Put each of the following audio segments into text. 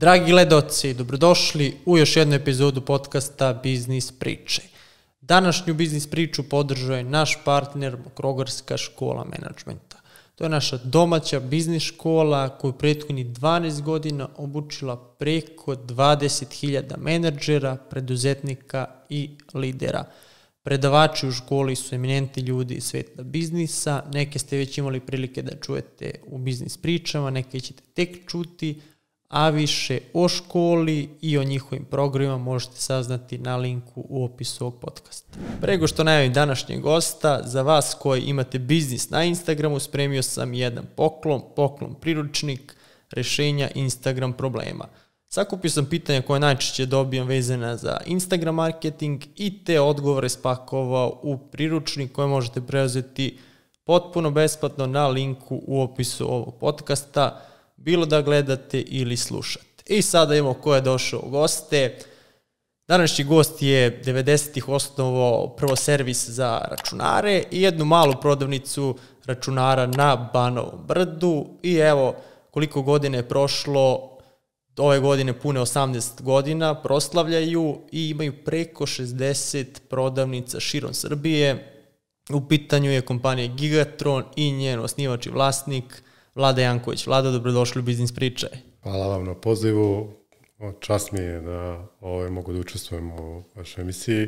Dragi gledaoci, dobrodošli u još jednu epizodu podcasta Biznis priče. Današnju biznis priču podržao je naš partner Mokrogarska škola menadžmenta. To je naša domaća biznis škola koju prethodnih 12 godina obučila preko 20.000 menadžera, preduzetnika i lidera. Predavači u školi su eminentni ljudi iz sveta biznisa, neke ste već imali prilike da čujete u biznis pričama, neke ćete tek čuti, a više o školi i o njihovim programima možete saznati na linku u opisu ovog podcasta. Prego što najavim današnjeg gosta, za vas koji imate biznis na Instagramu, spremio sam jedan poklon priručnik rešenja Instagram problema. Sakupio sam pitanja koje najčešće dobijam vezana za Instagram marketing i te odgovore spakovao u priručnik koje možete preuzeti potpuno besplatno na linku u opisu ovog podcasta, bilo da gledate ili slušate. I sada imamo ko je došao u goste. Današnji gost je 90-ih osnovao prvo servis za računare i jednu malu prodavnicu računara na Banovom brdu. I evo koliko godine je prošlo, ove godine pune 18 godina, proslavljaju i imaju preko 60 prodavnica širom Srbije. U pitanju je kompanija Gigatron i njen osnivač i vlasnik Vlada Janković. Vlada, dobrodošli u Biznis priče. Hvala vam na pozivu. Čast mi je da mogu da učestvujem u vašoj emisiji.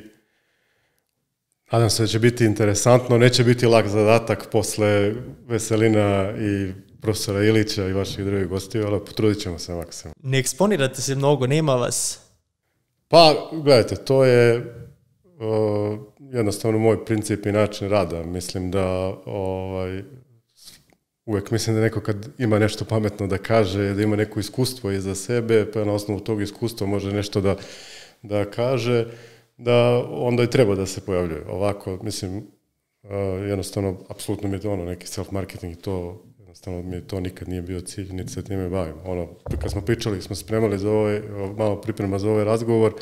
Nadam se da će biti interesantno, neće biti lak zadatak posle Veselina i profesora Ilića i vaših drugih gostiju, ali potrudit ćemo se maksimum. Ne eksponirate se mnogo, nema vas? Pa, gledajte, to je jednostavno moj princip i način rada. Mislim da uvek mislim da neko kad ima nešto pametno da kaže, da ima neko iskustvo iza sebe, pa na osnovu tog iskustva može nešto da kaže, da onda i treba da se pojavljuje. Ovako, mislim, jednostavno, apsolutno mi je to neki self-marketing i to, jednostavno mi je to nikad nije bio cilj, niti se time bavim. Kad smo pričali, smo spremali za malo priprema za ovaj razgovor,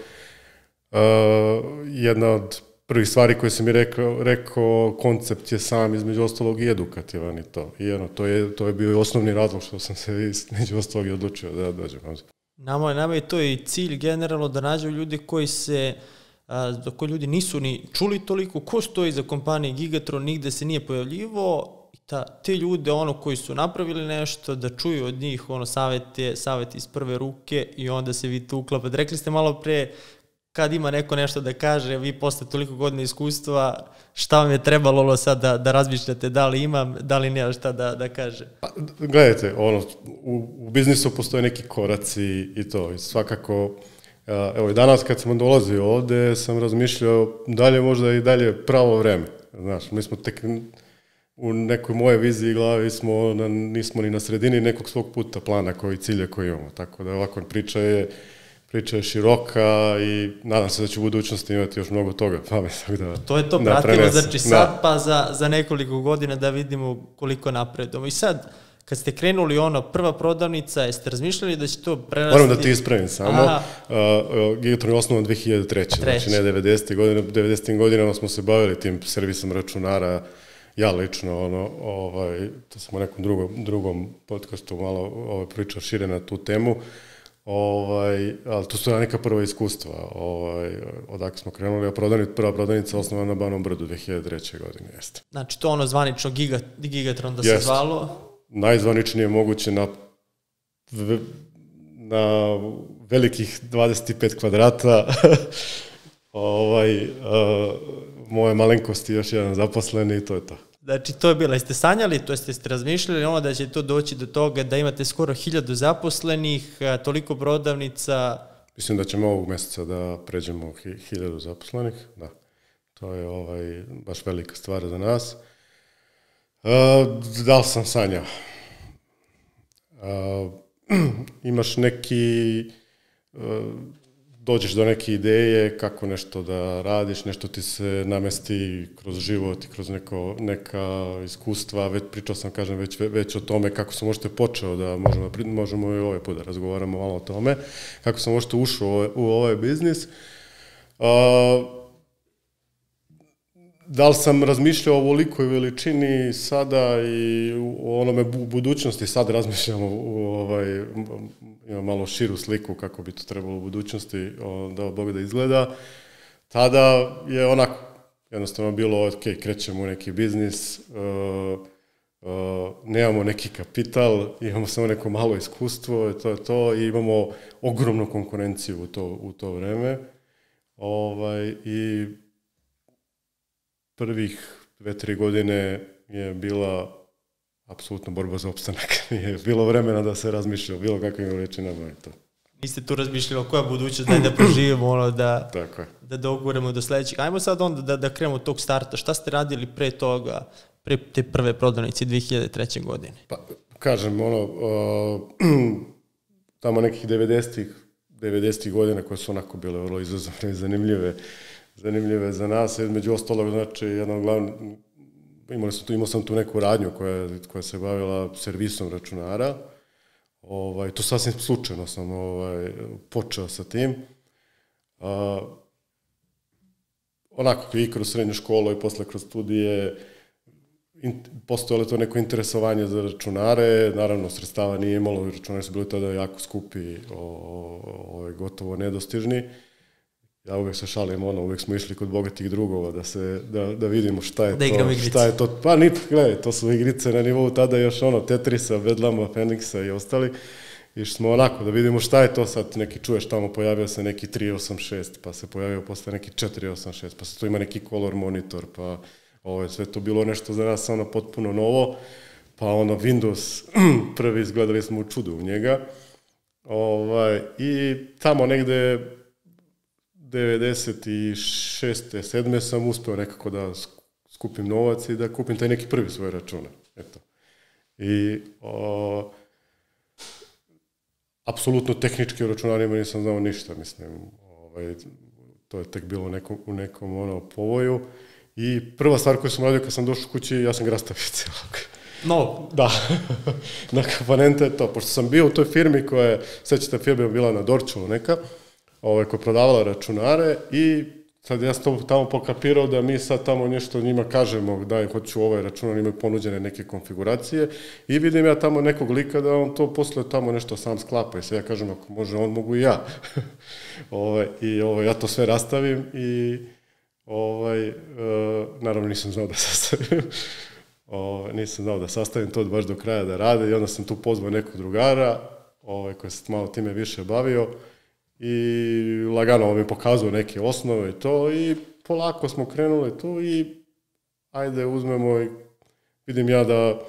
jedna od prvih stvari koje sam mi rekao, koncept je sam između ostalog i edukativan i to. I to je bio i osnovni razlog što sam se između ostalog i odlučio da dođem. Nama je to i cilj generalno da nađu ljudi koji ljudi nisu ni čuli toliko, ko stoji za kompanije Gigatron, nigde se nije pojavljivo, te ljude koji su napravili nešto, da čuju od njih savete iz prve ruke i onda se vi tu uklapate. Rekli ste malo pre, kad ima neko nešto da kaže, vi posle toliko godina iskustva, šta vam je trebalo sad da razmišljate, da li imam, da li nema šta da kaže? Gledajte, u biznisu postoje neki koraci i to, i svakako, evo i danas kad smo dolazio ovde, sam razmišljao dalje možda i dalje pravo vreme. Znaš, mi smo tek u nekoj moje viziji i glavi nismo ni na sredini nekog svog puta plana koji cilja koji imamo, tako da ovako priča je široka i nadam se da će u budućnosti imati još mnogo toga pametnog To je to, pratimo, znači sad pa za nekoliko godina da vidimo koliko napredujemo. I sad, kad ste krenuli prva prodavnica, jeste razmišljali da će to prerasti? Moram da ti ispravim samo. Gigatron je osnovan 2003. Znači ne 90. godine. 90. godinama smo se bavili tim servisom računara, ja lično, to sam u nekom drugom podcastu malo pričao šire na tu temu. Ali to su neka prva iskustva odakle smo krenuli, a prva prodavnica osnovana na Banovom brdu 2003. godine jeste. Znači to zvanično Gigatron da se zvalo? Najzvaničnije moguće na velikih 25 kvadrata, moje malenkosti još jedan zaposleni i to je to. Znači, to je bilo, jeste sanjali, to ste razmišljali da će to doći do toga da imate skoro 1000 zaposlenih, toliko prodavnica? Mislim da ćemo ovog meseca da pređemo 1000 zaposlenih, da. To je baš velika stvar za nas. Da li sam sanjao? Imaš dođeš do neke ideje kako nešto da radiš, nešto ti se namesti kroz život i kroz neka iskustva, pričao sam, kažem, već o tome kako sam možete počeo da možemo i ovaj put da razgovaramo malo o tome, kako sam možete ušao u ovaj biznis. da li sam razmišljao o ovolikoj veličini sada i o onome budućnosti, sad razmišljam imam malo širu sliku kako bi to trebalo u budućnosti da Bog da izgleda. Tada je onako jednostavno bilo, ok, krećemo u neki biznis, nemamo neki kapital, imamo samo neko malo iskustvo, to je to, i imamo ogromnu konkurenciju u to vreme. I prvih 2-3 godine je bila apsolutno borba za opstanak. Nije bilo vremena da se razmišlja o bilo kakvim veličinama i to. Niste tu razmišljali o koja budućnost, da preživimo, da doguremo do sljedećeg. Ajmo sad onda da krenemo od tog starta. Šta ste radili pre toga, pre te prve prodavnice 2003. godine? Pa, kažem, tamo nekih 90-ih godina koje su onako bile vrlo izazovne i zanimljive za nas. Među ostalog, znači, jedna od glavnih, imao sam tu neku radnju koja se bavila servisom računara. To sasvim slučajno sam počeo sa tim. Onako i kroz srednju školu i posle kroz studije postojalo to neko interesovanje za računare. Naravno, sredstava nije imalo, računari su bili tada jako skupi, gotovo nedostižni. Ja uvijek se šalim, uvijek smo išli kod bogatih drugova da vidimo šta je to. Pa gledaj, to su igrice na nivou tada još Tetrisa, Bedlama, Feniksa i ostali. Išli smo onako da vidimo šta je to sad, neki čuješ tamo, pojavio se neki 386, pa se pojavio posle neki 486, pa se tu ima neki color monitor, pa sve to bilo nešto za nas potpuno novo, pa Windows prvi izgledali smo u čudu u njega. I tamo negde 96. 7. sam uspeo nekako da skupim novac i da kupim taj neki prvi svoj računar. Eto. I apsolutno tehnički o računarima nisam znao ništa, mislim. To je tek bilo u nekom povoju. I prva stvar koju sam radio kad sam došao kući, ja sam ga rastavio celog. No. Da, na komponente je to. Pošto sam bio u toj firmi koja, sećate, firma je bila na Dorčulu neka, koja je prodavala računare, i sad ja sam tamo pokapirao da mi sad tamo nešto njima kažemo da hoću ovaj računar, imaju ponuđene neke konfiguracije, i vidim ja tamo nekog lika da on to posle tamo nešto sam sklapa, i sad ja kažem ako može on, mogu i ja. Ja to sve rastavim i naravno nisam znao da sastavim to baš do kraja da rade, i onda sam tu pozvao nekog drugara koji se malo time više bavio i lagano mi pokazao neke osnove i to, i polako smo krenuli tu i ajde uzmemo i vidim ja da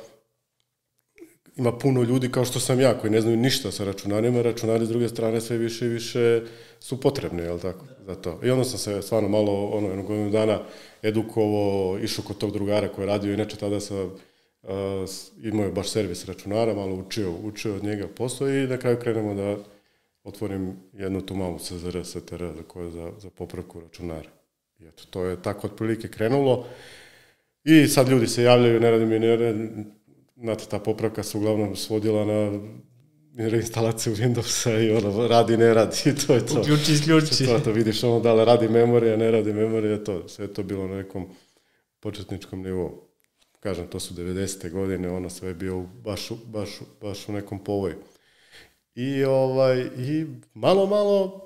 ima puno ljudi kao što sam ja koji ne znaju ništa sa računarima, računari s druge strane sve više i više su potrebni, jel tako, za to. I onda sam se stvarno malo, jednog godinu dana edukovao, išao kod tog drugara koji je radio, inače tada sam imao baš servis računara, malo učio od njega posao, i na kraju krenemo da otvorim jednu tu malu CZR, STR za popravku računara. I eto, to je tako otprilike krenulo. I sad ljudi se javljaju, ne radim, znate, ta popravka se uglavnom svodila na reinstalaciju Windowsa i radi, ne radi, i to je to. Uključi, isključi. To vidiš da li radi memorija, ne radi memorija, to. Sve je to bilo na nekom početničkom nivou. Kažem, to su 90. godine, sve je bio baš u nekom povoju. I malo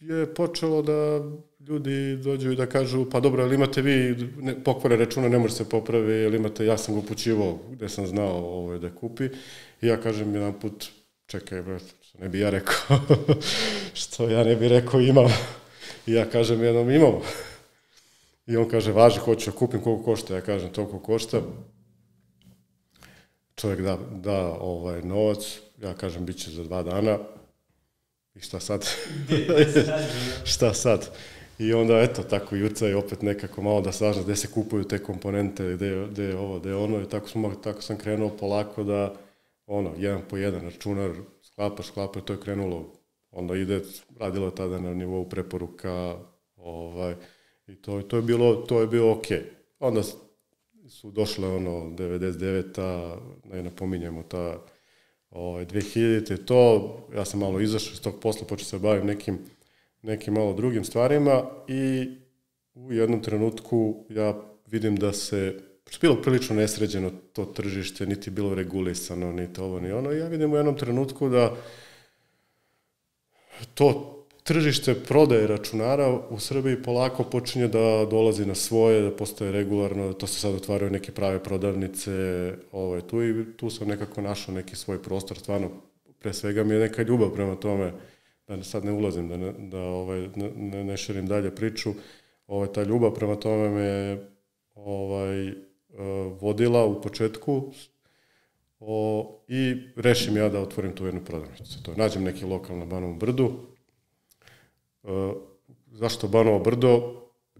je počelo da ljudi dođu i da kažu, pa dobro, ali imate vi pokvare računa, ne može se popravi, ili imate, ja sam ga upućivao gde sam znao da kupi, i ja kažem jedan put, čekaj, što ne bi ja rekao, što ja ne bi rekao imam, i ja kažem jednom imamo, i on kaže, važi, hoću da kupim, koliko košta, ja kažem, toliko košta, čovjek da novac, ja kažem, bit će za 2 dana, i šta sad? Šta sad? I onda, eto, tako jurca je opet nekako malo da sažna gde se kupuju te komponente, gde je ovo, gde je ono, i tako sam krenuo polako da, jedan po jedan računar, sklapaš, to je krenulo, onda radilo je tada na nivou preporuka, i to je bilo okej. Onda su došle 99-a, ne napominjemo ta 2000-te, to, ja sam malo izašao iz tog posla, počeo se bavim nekim malo drugim stvarima, i u jednom trenutku ja vidim da se, što je bilo prilično nesređeno to tržište, niti bilo regulisano, niti ovo, ni ono, i ja vidim u jednom trenutku da to tržište prodaje računara u Srbiji polako počinje da dolazi na svoje, da postaje regularno, da to se sad otvaraju neke prave prodavnice, tu sam nekako našao neki svoj prostor, stvarno, pre svega mi je neka ljubav prema tome, da sad ne ulazim, da ne širim dalje priču, ta ljubav prema tome me vodila u početku i rešim ja da otvorim tu jednu prodavnicu. Nađem neki lokal na Banovom Brdu. Zašto Banovo Brdo?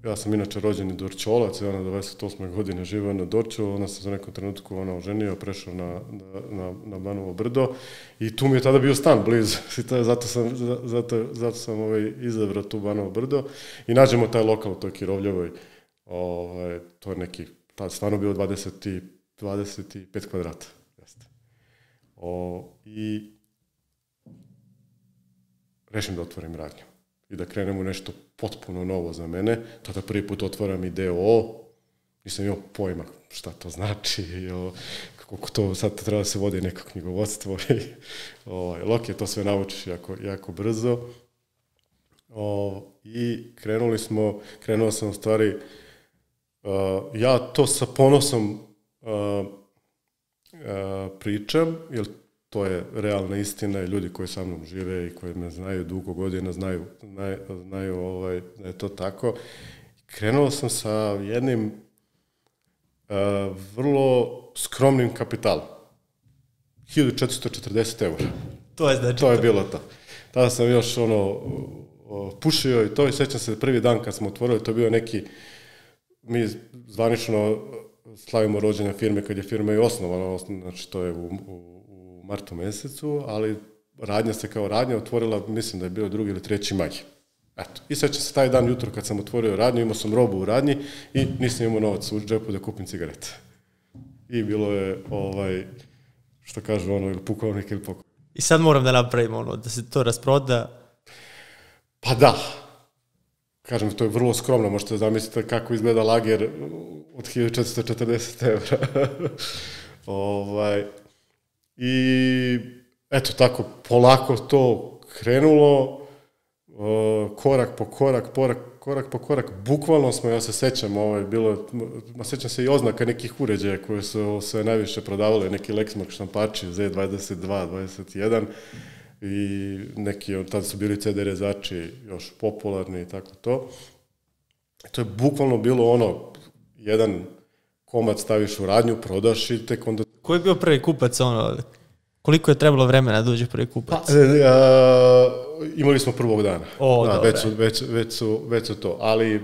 Ja sam inače rođeni Dorćolac, ja na 28. godine živio na Dorćolu, onda sam za nekom trenutku oženio, prešao na Banovo Brdo i tu mi je tada bio stan blizu, zato sam izabrao tu Banovo Brdo i nađemo taj lokal u toj Kirovljevoj, to je neki, tada stvarno bilo 25 kvadrata. I rešim da otvorim radnju i da krenem u nešto potpuno novo za mene. Tada prvi put otvaram i DOO, nisam imao pojma šta to znači, kako to sad treba da se vodi neko knjigovodstvo. Lok je, to sve naučiš jako brzo. I krenuo sam u stvari, ja to sa ponosom pričam, jer to je realna istina i ljudi koji sa mnom žive i koji me znaju dugo godina, znaju da je to tako. Krenuo sam sa jednim vrlo skromnim kapitalom. 1440 €. To je bilo to. Tada sam još pušio i to, i sećam se prvi dan kad smo otvorili, to je bio neki, mi zvanično slavimo rođenja firme kad je firma i osnovana, znači to je u martu mesecu, ali radnja se kao radnja otvorila, mislim da je bio 2. ili 3. maj. Eto. I sećam se taj dan jutro kad sam otvorio radnju, imao sam robu u radnji i nisam imao novac u džepu da kupim cigarete. I bilo je, što kažu, ili pukovnik ili pokoj. I sad moram da napravim da se to rasproda. Pa da. Kažem, to je vrlo skromno, možete zamisliti kako izgleda lager od 1440 €. I eto tako, polako to krenulo, korak po korak, bukvalno smo, ja se sećam, sećam se i oznaka nekih uređaja koje su sve najviše prodavale, neki Lexmark štampači, Z22, 21 i neki, tada su bili CD rezači još popularni i tako to. To je bukvalno bilo jedan komad staviš u radnju, prodaš i tek onda... Ko je bio prvi kupac, koliko je trebalo vremena da uđe prvi kupac? Imali smo prvog dana. Već su to. Ali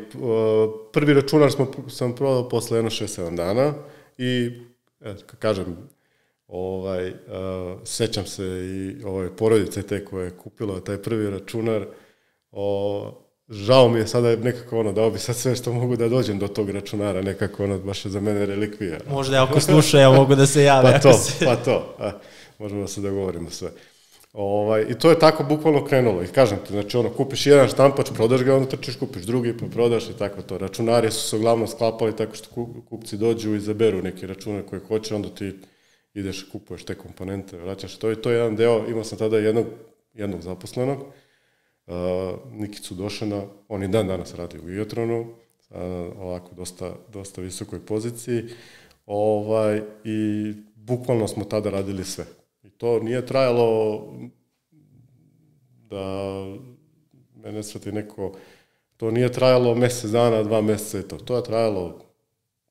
prvi računar sam prodao posle 6-7 dana i, kažem, sećam se i porodice te koje je kupila taj prvi računar. Žao mi je sada nekako dao bi sad sve što mogu da dođem do tog računara, nekako baš je za mene relikvija. Možda ako sluša, ja mogu da se jave. Pa to. Možemo da se dogovorimo sve. I to je tako bukvalno krenulo. I kažem ti, znači kupiš jedan štampač, prodaš ga, onda trčiš, kupiš drugi, pa prodaš i tako to. Računari su se uglavnom sklapali tako što kupci dođu i izaberu neki računar koji hoće, onda ti ideš, kupuješ te komponente, vraćaš to. I to je jedan deo, imao sam tada jednog zaposlenog, Nikicu Došana, on i dan danas radi u Iotronu, ovako dosta visokoj poziciji, i bukvalno smo tada radili sve. I to nije trajalo da me ne shvati neko, to nije trajalo mesec dana, 2 meseca i to. To je trajalo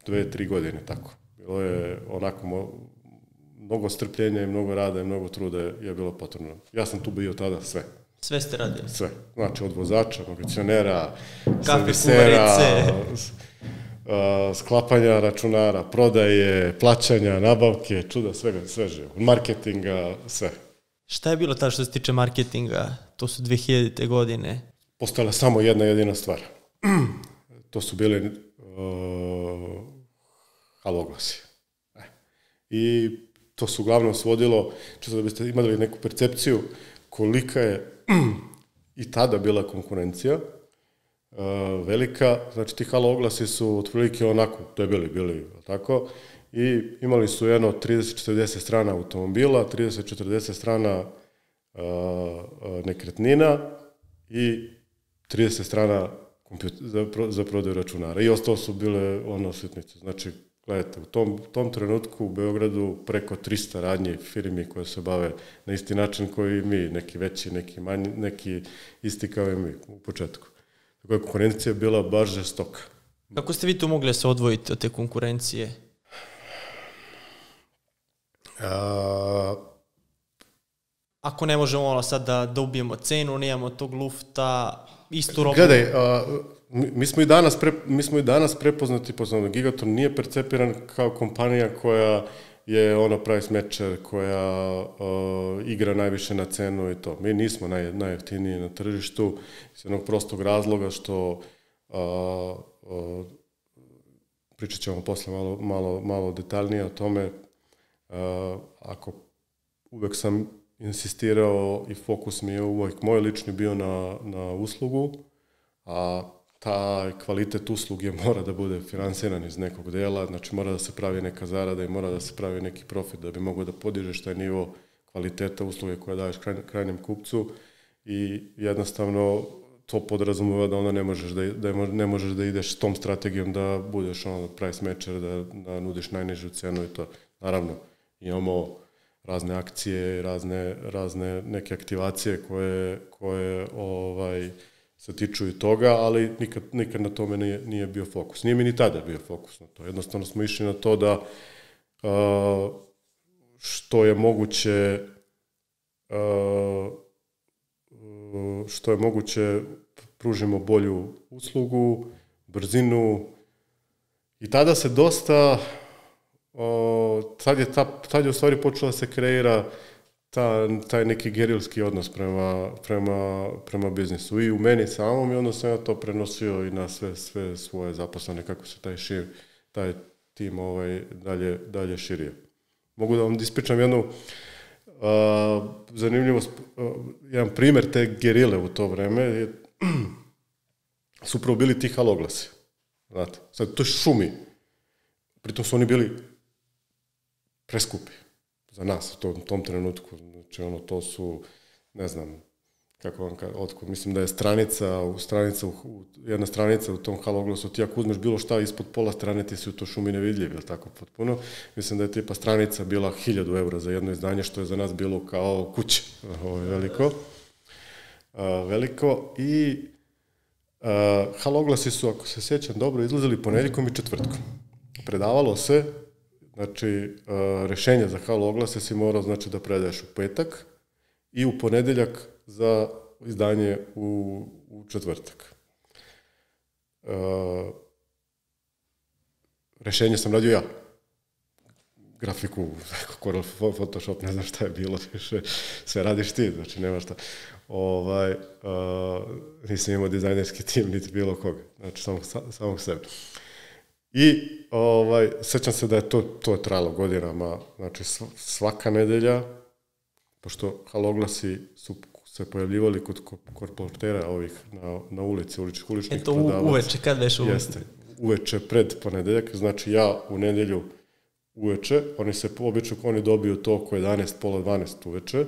2-3 godine, tako. Bilo je onako mnogo strpljenja i mnogo rada i mnogo truda je bilo potrebno. Ja sam tu bio tada sve. Sve ste radili? Sve. Znači od vozača, magacionera, servisera, sklapanja računara, prodaje, plaćanja, nabavke, čuda, sve živo. Marketinga, sve. Šta je bilo što se tiče marketinga? To su 2000. godine. Postojala samo jedna jedina stvar. To su bili haloglasi. I to se uglavnom svodilo, čisto da biste imali neku percepciju kolika je i tada bila konkurencija. velika, znači ti halo oglasi su otprilike onako debeli bili, tako, i imali su jedno 30-40 strana automobila, 30-40 strana nekretnina i 30 strana za prodaju računara. I ostalo su bile sitnice. Znači, gledajte, u tom trenutku u Beogradu preko 300 radnji firmi koje se bave na isti način koji mi, neki veći, neki manji, neki isti kao i mi u početku. Tako je konkurencija bila baš žestoka. Kako ste vi tu mogli se odvojiti od te konkurencije? Ako ne možemo sad da ubijemo cenu, nemamo tog lufta, istu robu. Gledaj, mi smo i danas prepoznati, Gigaton nije percepiran kao kompanija koja je price matcher, koja igra najviše na cenu i to. Mi nismo najjeftiniji na tržištu iz jednog prostog razloga što pričat ćemo posle malo detaljnije o tome. Ako uvek sam insistirao i fokus mi je uvijek moj lični bio na uslugu, a taj kvalitet usluge mora da bude finansiran iz nekog dela, znači mora da se pravi neka zarada i mora da se pravi neki profit da bi mogao da podižeš taj nivo kvaliteta usluge koja daješ krajnjem kupcu i jednostavno to podrazumeva da onda ne možeš da ideš s tom strategijom da budeš price matcher, da nudiš najnižu cenu i to. Naravno, imamo razne akcije, razne neke aktivacije koje se tiču i toga, ali nikad na tome nije bio fokus. Nije mi ni tada bio fokus na to. Jednostavno smo išli na to da što je moguće pružimo bolju uslugu, brzinu i tada se dosta tad je u stvari počela se kreira taj neki gerilski odnos prema biznisu i u meni samom i onda sam ja to prenosio i na sve svoje zaposlene kako se taj tim dalje širio. Mogu da vam ispričam jednu zanimljivost, jedan primjer te gerile u to vreme su upravo bili ti haloglasi. Znate, sad to je šumi. Pritom su oni bili preskupi za nas u tom trenutku. Znači, to su, ne znam, kako vam otkud, mislim da je jedna stranica u tom haloglasu, ti ako uzmeš bilo šta ispod pola strane, ti si u to šumi nevidljiv, ili tako potpuno. Mislim da je tipa stranica bila 1000 € za jedno izdanje, što je za nas bilo kao kuće. Ovo je veliko. I haloglasi su, ako se sjećam dobro, izlazili ponedjeljkom i četvrtkom. Predavalo se, znači, rešenje za haloglase si morao, znači, da predaješ u petak i u ponedjeljak za izdanje u četvrtak. Rešenje sam radio ja. Grafiku, Corel, Photoshop, ne znam šta je bilo, sve radiš ti, znači nema šta. Nisam imao dizajnerski tim, niti bilo koga, znači samog sebe. I sećam se da je to trajalo godinama, znači svaka nedelja, pošto haloglasi su se pojavljivali kod korportera ovih na ulici, uličnih prodavaca. Eto, uveče, kad veš uveče? Jeste, uveče pred ponedeljak, znači ja u nedelju uveče, oni dobiju to oko 11, pola 12 uveče,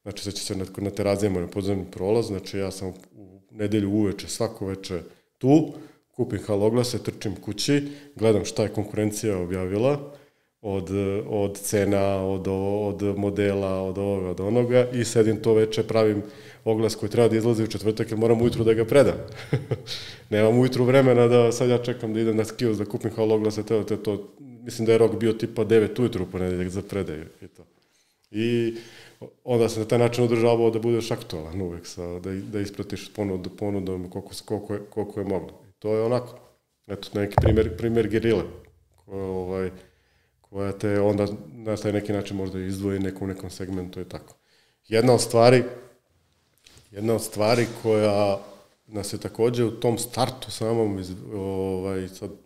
znači sad će se na terazijama na podzemni prolaz, znači ja sam u nedelju uveče, svako veče tu, kupim haloglase, trčim kući, gledam šta je konkurencija objavila, od cena, od modela, od ovoga, od onoga i sedim to veče, pravim oglas koji treba da izlazi u četvrtak jer moram ujutru da ga predam. Nemam ujutru vremena da sad ja čekam da idem na kiosk da kupim haloglase, to, mislim da je rok bio tipa 9 ujutru u ponedeljak za predaju i to. I onda se na taj način održavao da budeš aktualan uvek, da ispratiš ponudom koliko je moglo. I to je onako, eto, neki primjer gerile, koja te onda na taj neki način možda izdvoji u nekom segmentu i tako. Jedna od stvari koja nas je također u tom startu samom,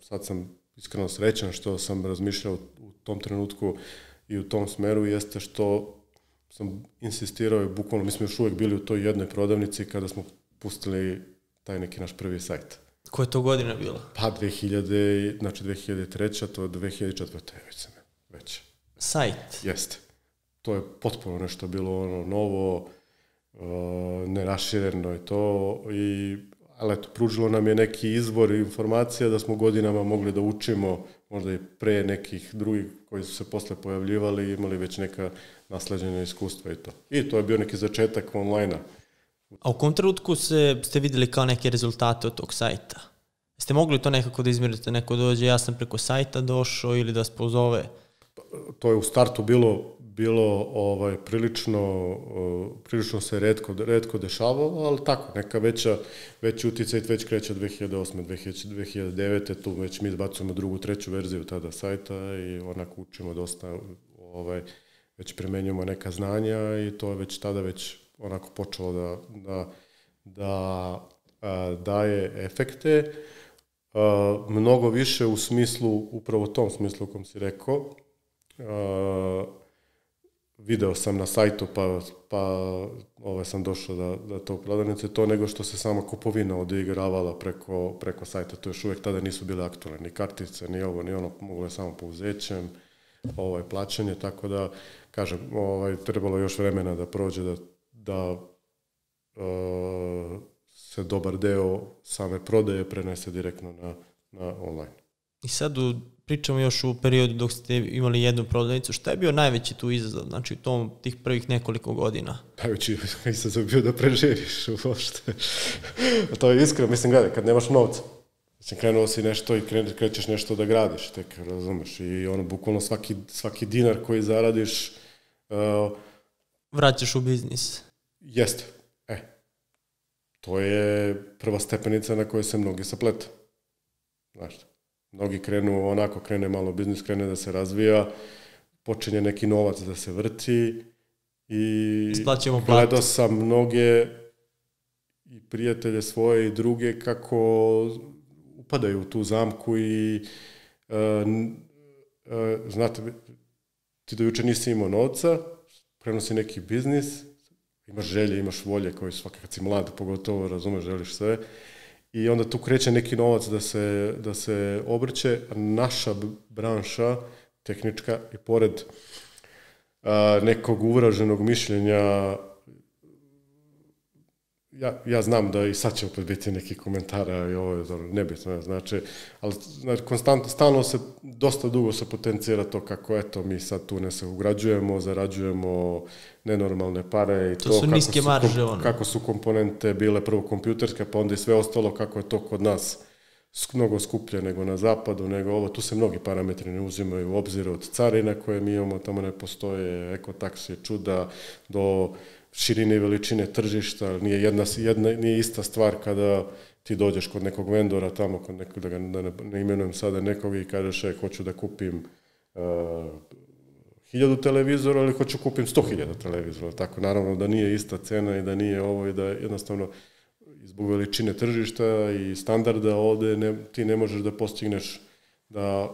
sad sam iskreno srećan što sam razmišljao u tom trenutku i u tom smeru, jeste što sam insistirao i bukvalno, mi smo još uvijek bili u toj jednoj prodavnici kada smo pustili taj neki naš prvi sajt. Koja je to godina bila? Pa 2003. to je 2004. već. Sajt? Jeste. To je potpuno nešto bilo novo, nerašireno je to, ali eto, pružilo nam je neki izvor informacija da smo godinama mogli da učimo, možda i pre nekih drugih koji su se posle pojavljivali i imali već neka nasleđena iskustva i to. I to je bio neki začetak online-a. A u kom trenutku ste vidjeli kao neke rezultate od tog sajta? Ste mogli to nekako da izmjerite? Neko dođe, ja sam preko sajta došao ili da vas pozove? To je u startu bilo prilično se retko dešavalo, ali tako, neka veći uticaj već kreće od 2008. 2009. Tu već mi izbacujemo drugu, treću verziju tada sajta i onako učimo dosta, već primenjujemo neka znanja i to je već tada već onako počelo da daje efekte. Mnogo više u smislu, upravo tom smislu kom si rekao, video sam na sajtu pa sam došao da to prodavnice, to nego što se sama kupovina odigravala preko sajta. To još uvijek tada nisu bile aktualne, ni kartice, ni ovo, ni ono, moglo je samo pouzećem, plaćanje, tako da, kažem, trebalo još vremena da prođe da se dobar deo same prodaje prenese direktno na online. I sad pričamo još u periodu dok ste imali jednu prodavnicu. Šta je bio najveći tu izazov, znači u tih prvih nekoliko godina? Najveći izazov bio da preživiš uopšte. To je iskreno, mislim, gledaj, kad nemaš novca, mislim, krenuo si nešto i krećeš nešto da gradiš, tek razumeš, i bukvalno svaki dinar koji zaradiš vraćaš u biznis. Jeste. To je prva stepenica na kojoj se mnogi saplete. Znaš, mnogi krene malo biznis, krene da se razvija, počinje neki novac da se vrti i gledao sam mnoge i prijatelje svoje i druge kako upadaju u tu zamku i znate, ti do juče nisi imao novca, prenosi neki biznis, imaš želje, imaš volje, koji svaki kad si mlad, pogotovo razumeš, želiš sve. I onda tu kreće neki novac da se obrće. Naša branša, tehnička, i pored nekog uvraženog mišljenja, ja znam da i sad će opet biti neki komentara i ovo je nebitno, znači, ali konstantno, stalno se, dosta dugo se potencira to kako, eto, mi sad tu ne se ugrađujemo, zarađujemo nenormalne pare i to su niske marže, kako su komponente bile prvo kompjuterske, pa onda i sve ostalo, kako je to kod nas mnogo skuplje nego na zapadu, nego ovo, tu se mnogi parametri ne uzimaju u obzir, od carina koje mi imamo, tamo ne postoje, ekotaksi, čuda, do širine i veličine tržišta, nije ista stvar kada ti dođeš kod nekog vendora tamo, kod nekog, da ne imenujem sada nekog i kažeš, hoću da kupim 1000 televizora ili hoću kupim 100.000 televizora, tako, naravno da nije ista cena i da nije ovo i da jednostavno zbog veličine tržišta i standarda ovde ti ne možeš da postigneš da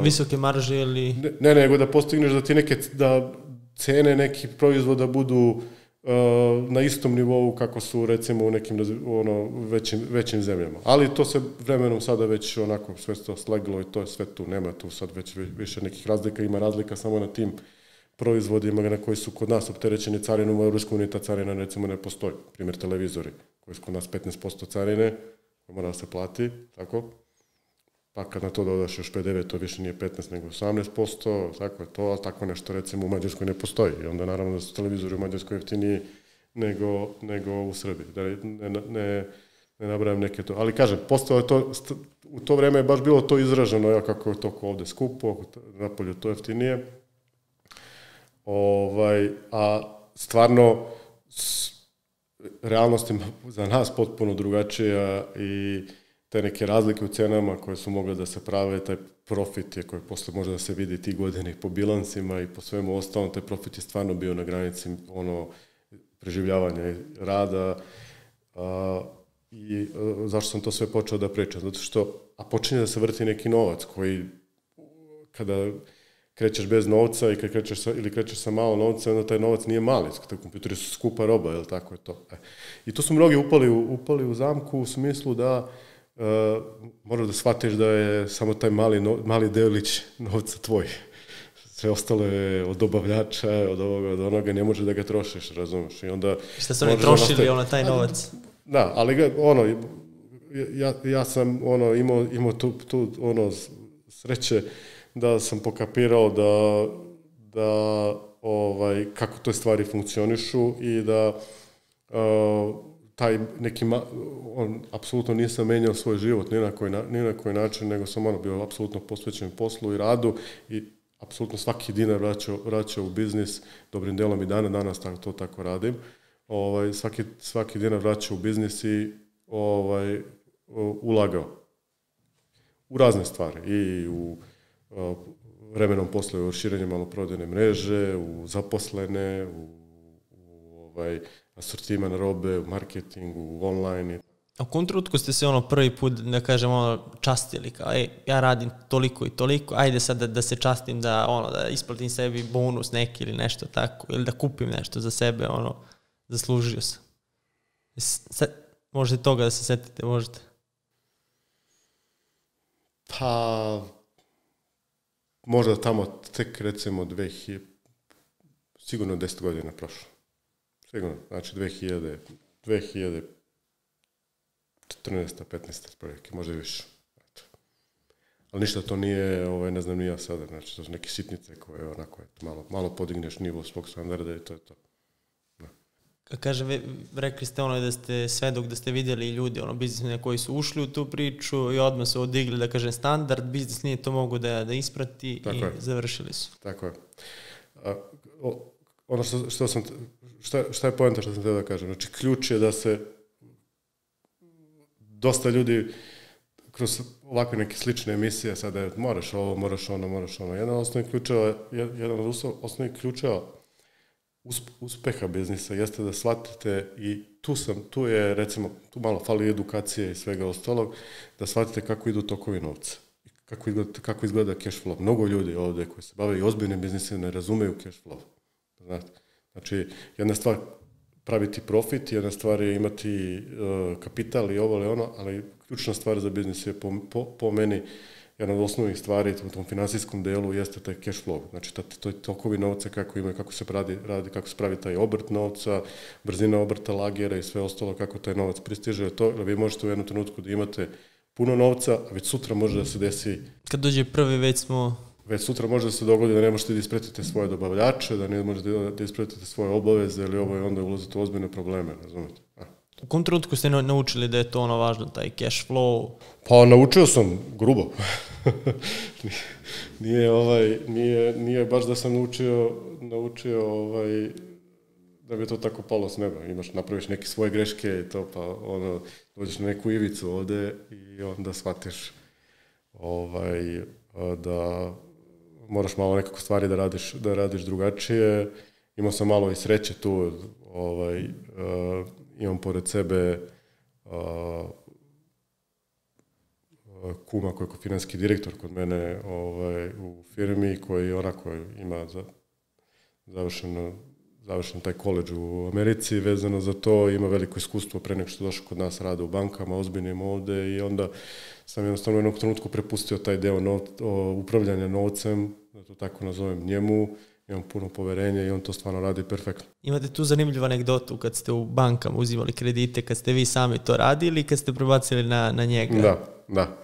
visoke marže ili... Ne, nego da postigneš da ti da cene nekih proizvoda budu na istom nivou kako su recimo u nekim većim zemljama. Ali to se vremenom sada već onako sve to sleglo i to je sve tu. Nema tu sad već više nekih razlika. Ima razlika samo na tim proizvodima na koji su kod nas opterećeni carinom, u Europskoj uniji ta carina recimo ne postoji. Primjer televizori koji su kod nas 15% carine koja mora da se plati, tako? Pa kad na to dodaš još PDV, to više nije 15 nego 18%, tako je to, ali tako nešto recimo u Mađarskoj ne postoji. I onda naravno da su televizori u Mađarskoj jeftiniji nego u Srbiji. Da ne nabrajam neke to. Ali kažem, postalo je to, u to vreme je baš bilo to izraženo, kako je to ovde skupo, napolju to jeftinije. A stvarno realnost je za nas potpuno drugačija i te neke razlike u cenama koje su mogle da se prave, taj profit je koji posle može da se vidi tih godina i po bilansima i po svemu ostalom, taj profit je stvarno bio na granici preživljavanja i rada. I zašto sam to sve počeo da pričam? Zato što, počinje da se vrti neki novac koji, krećeš bez novca i kad krećeš sa malo novca, onda taj novac nije mali, kompjuteri su skupa roba, jel tako je to. I to su mnogi upali u zamku u smislu da moraš da shvatiš da je samo taj mali delić novca tvoj. Sve ostalo je od dobavljača, od ovoga, od onoga, ne može da ga trošiš, razumiješ. I onda šta su oni trošili taj novac? Da, ali ja sam imao tu sreće da sam pokapirao da kako te stvari funkcionišu i da taj neki, apsolutno nisam menjao svoj život ni na koji način, nego sam bio apsolutno posvećen poslu i radu i apsolutno svaki dinar vraćao u biznis, dobrim delom i danas to tako radim. Svaki dinar vraćao u biznis i ulagao u razne stvari i u vremenom posle u širenje maloprodajne mreže, u zaposlene, u asortiman robe, u marketingu, u online. A u kom trenutku ste se prvi put, da kažem, častili, kao, ja radim toliko i toliko, ajde sad da se častim, da isplatim sebi bonus neki ili nešto tako, ili da kupim nešto za sebe, zaslužio sam. Možete toga da se setite, možete? Pa, možda tamo tek recimo sigurno 10 godina prošlo. Sigurno, znači 2014. 15. prilike, možda i više. Ali ništa to nije, ne znam ni ja sada, znači to su neke sitnice koje onako malo podigneš nivo svog standarda i to je to. Kaže, rekli ste da ste svedok, da ste vidjeli ljudi, biznismene koji su ušli u tu priču i odmah su odigli, da kažem, standard, biznis nije to mogu da isprati tako i je. Završili su. Tako je. Šta je poenta što sam htio da kažem? Znači, ključ je da se dosta ljudi kroz ovakve neke slične emisije, sada moraš ovo, moraš ono. Jedan od osnovnih ključeva uspeha biznisa jeste da shvatite i tu je recimo, tu malo fali edukacije i svega ostalog, da shvatite kako idu tokovi novca. Kako izgleda cash flow. Mnogo ljudi ovdje koji se bave i ozbiljnim biznisima ne razumeju cash flow. Znači, jedna stvar praviti profit, jedna stvar je imati kapital i ovo ili ono, ali ključna stvar za biznis je po meni jedna od osnovnih stvari u tom finansijskom delu jeste taj cash flow. Znači, to je tokovi novca kako se radi, kako se pravi taj obrt novca, brzina obrta lagera i sve ostalo, kako taj novac pristiže. Vi možete u jednom trenutku da imate puno novca, a već sutra može da se desi... Kad dođe prvi, Već sutra može da se dogodi da ne možete da ispratite svoje dobavljače, da ne možete da ispratite svoje obaveze ili ovo i onda ulazite u ozbiljne probleme, razumete? U kom trenutku ste naučili da je to važno, taj cash flow? Pa naučio sam grubo. Nije baš da sam naučio da bi to tako palo s neba. Napraviš neke svoje greške i to, pa dođeš na neku ivicu ovde i onda shvatiš da moraš malo nekako stvari da radiš drugačije. Imao sam malo i sreće tu, imam pored sebe kuma koji je financijski direktor kod mene u firmi, koji onako ima završen taj koledž u Americi vezano za to, ima veliko iskustvo pre nego što došao kod nas, rade u bankama, ozbiljnim ovde i onda sam jednostavno u jednom trenutku prepustio taj deo upravljanja novcem, da to tako nazovem, njemu, imam puno poverenja i on to stvarno radi perfektno. Imate tu zanimljivu anegdotu kad ste u bankama uzimali kredite, kad ste vi sami to radili i kad ste prebacili na njega? Da.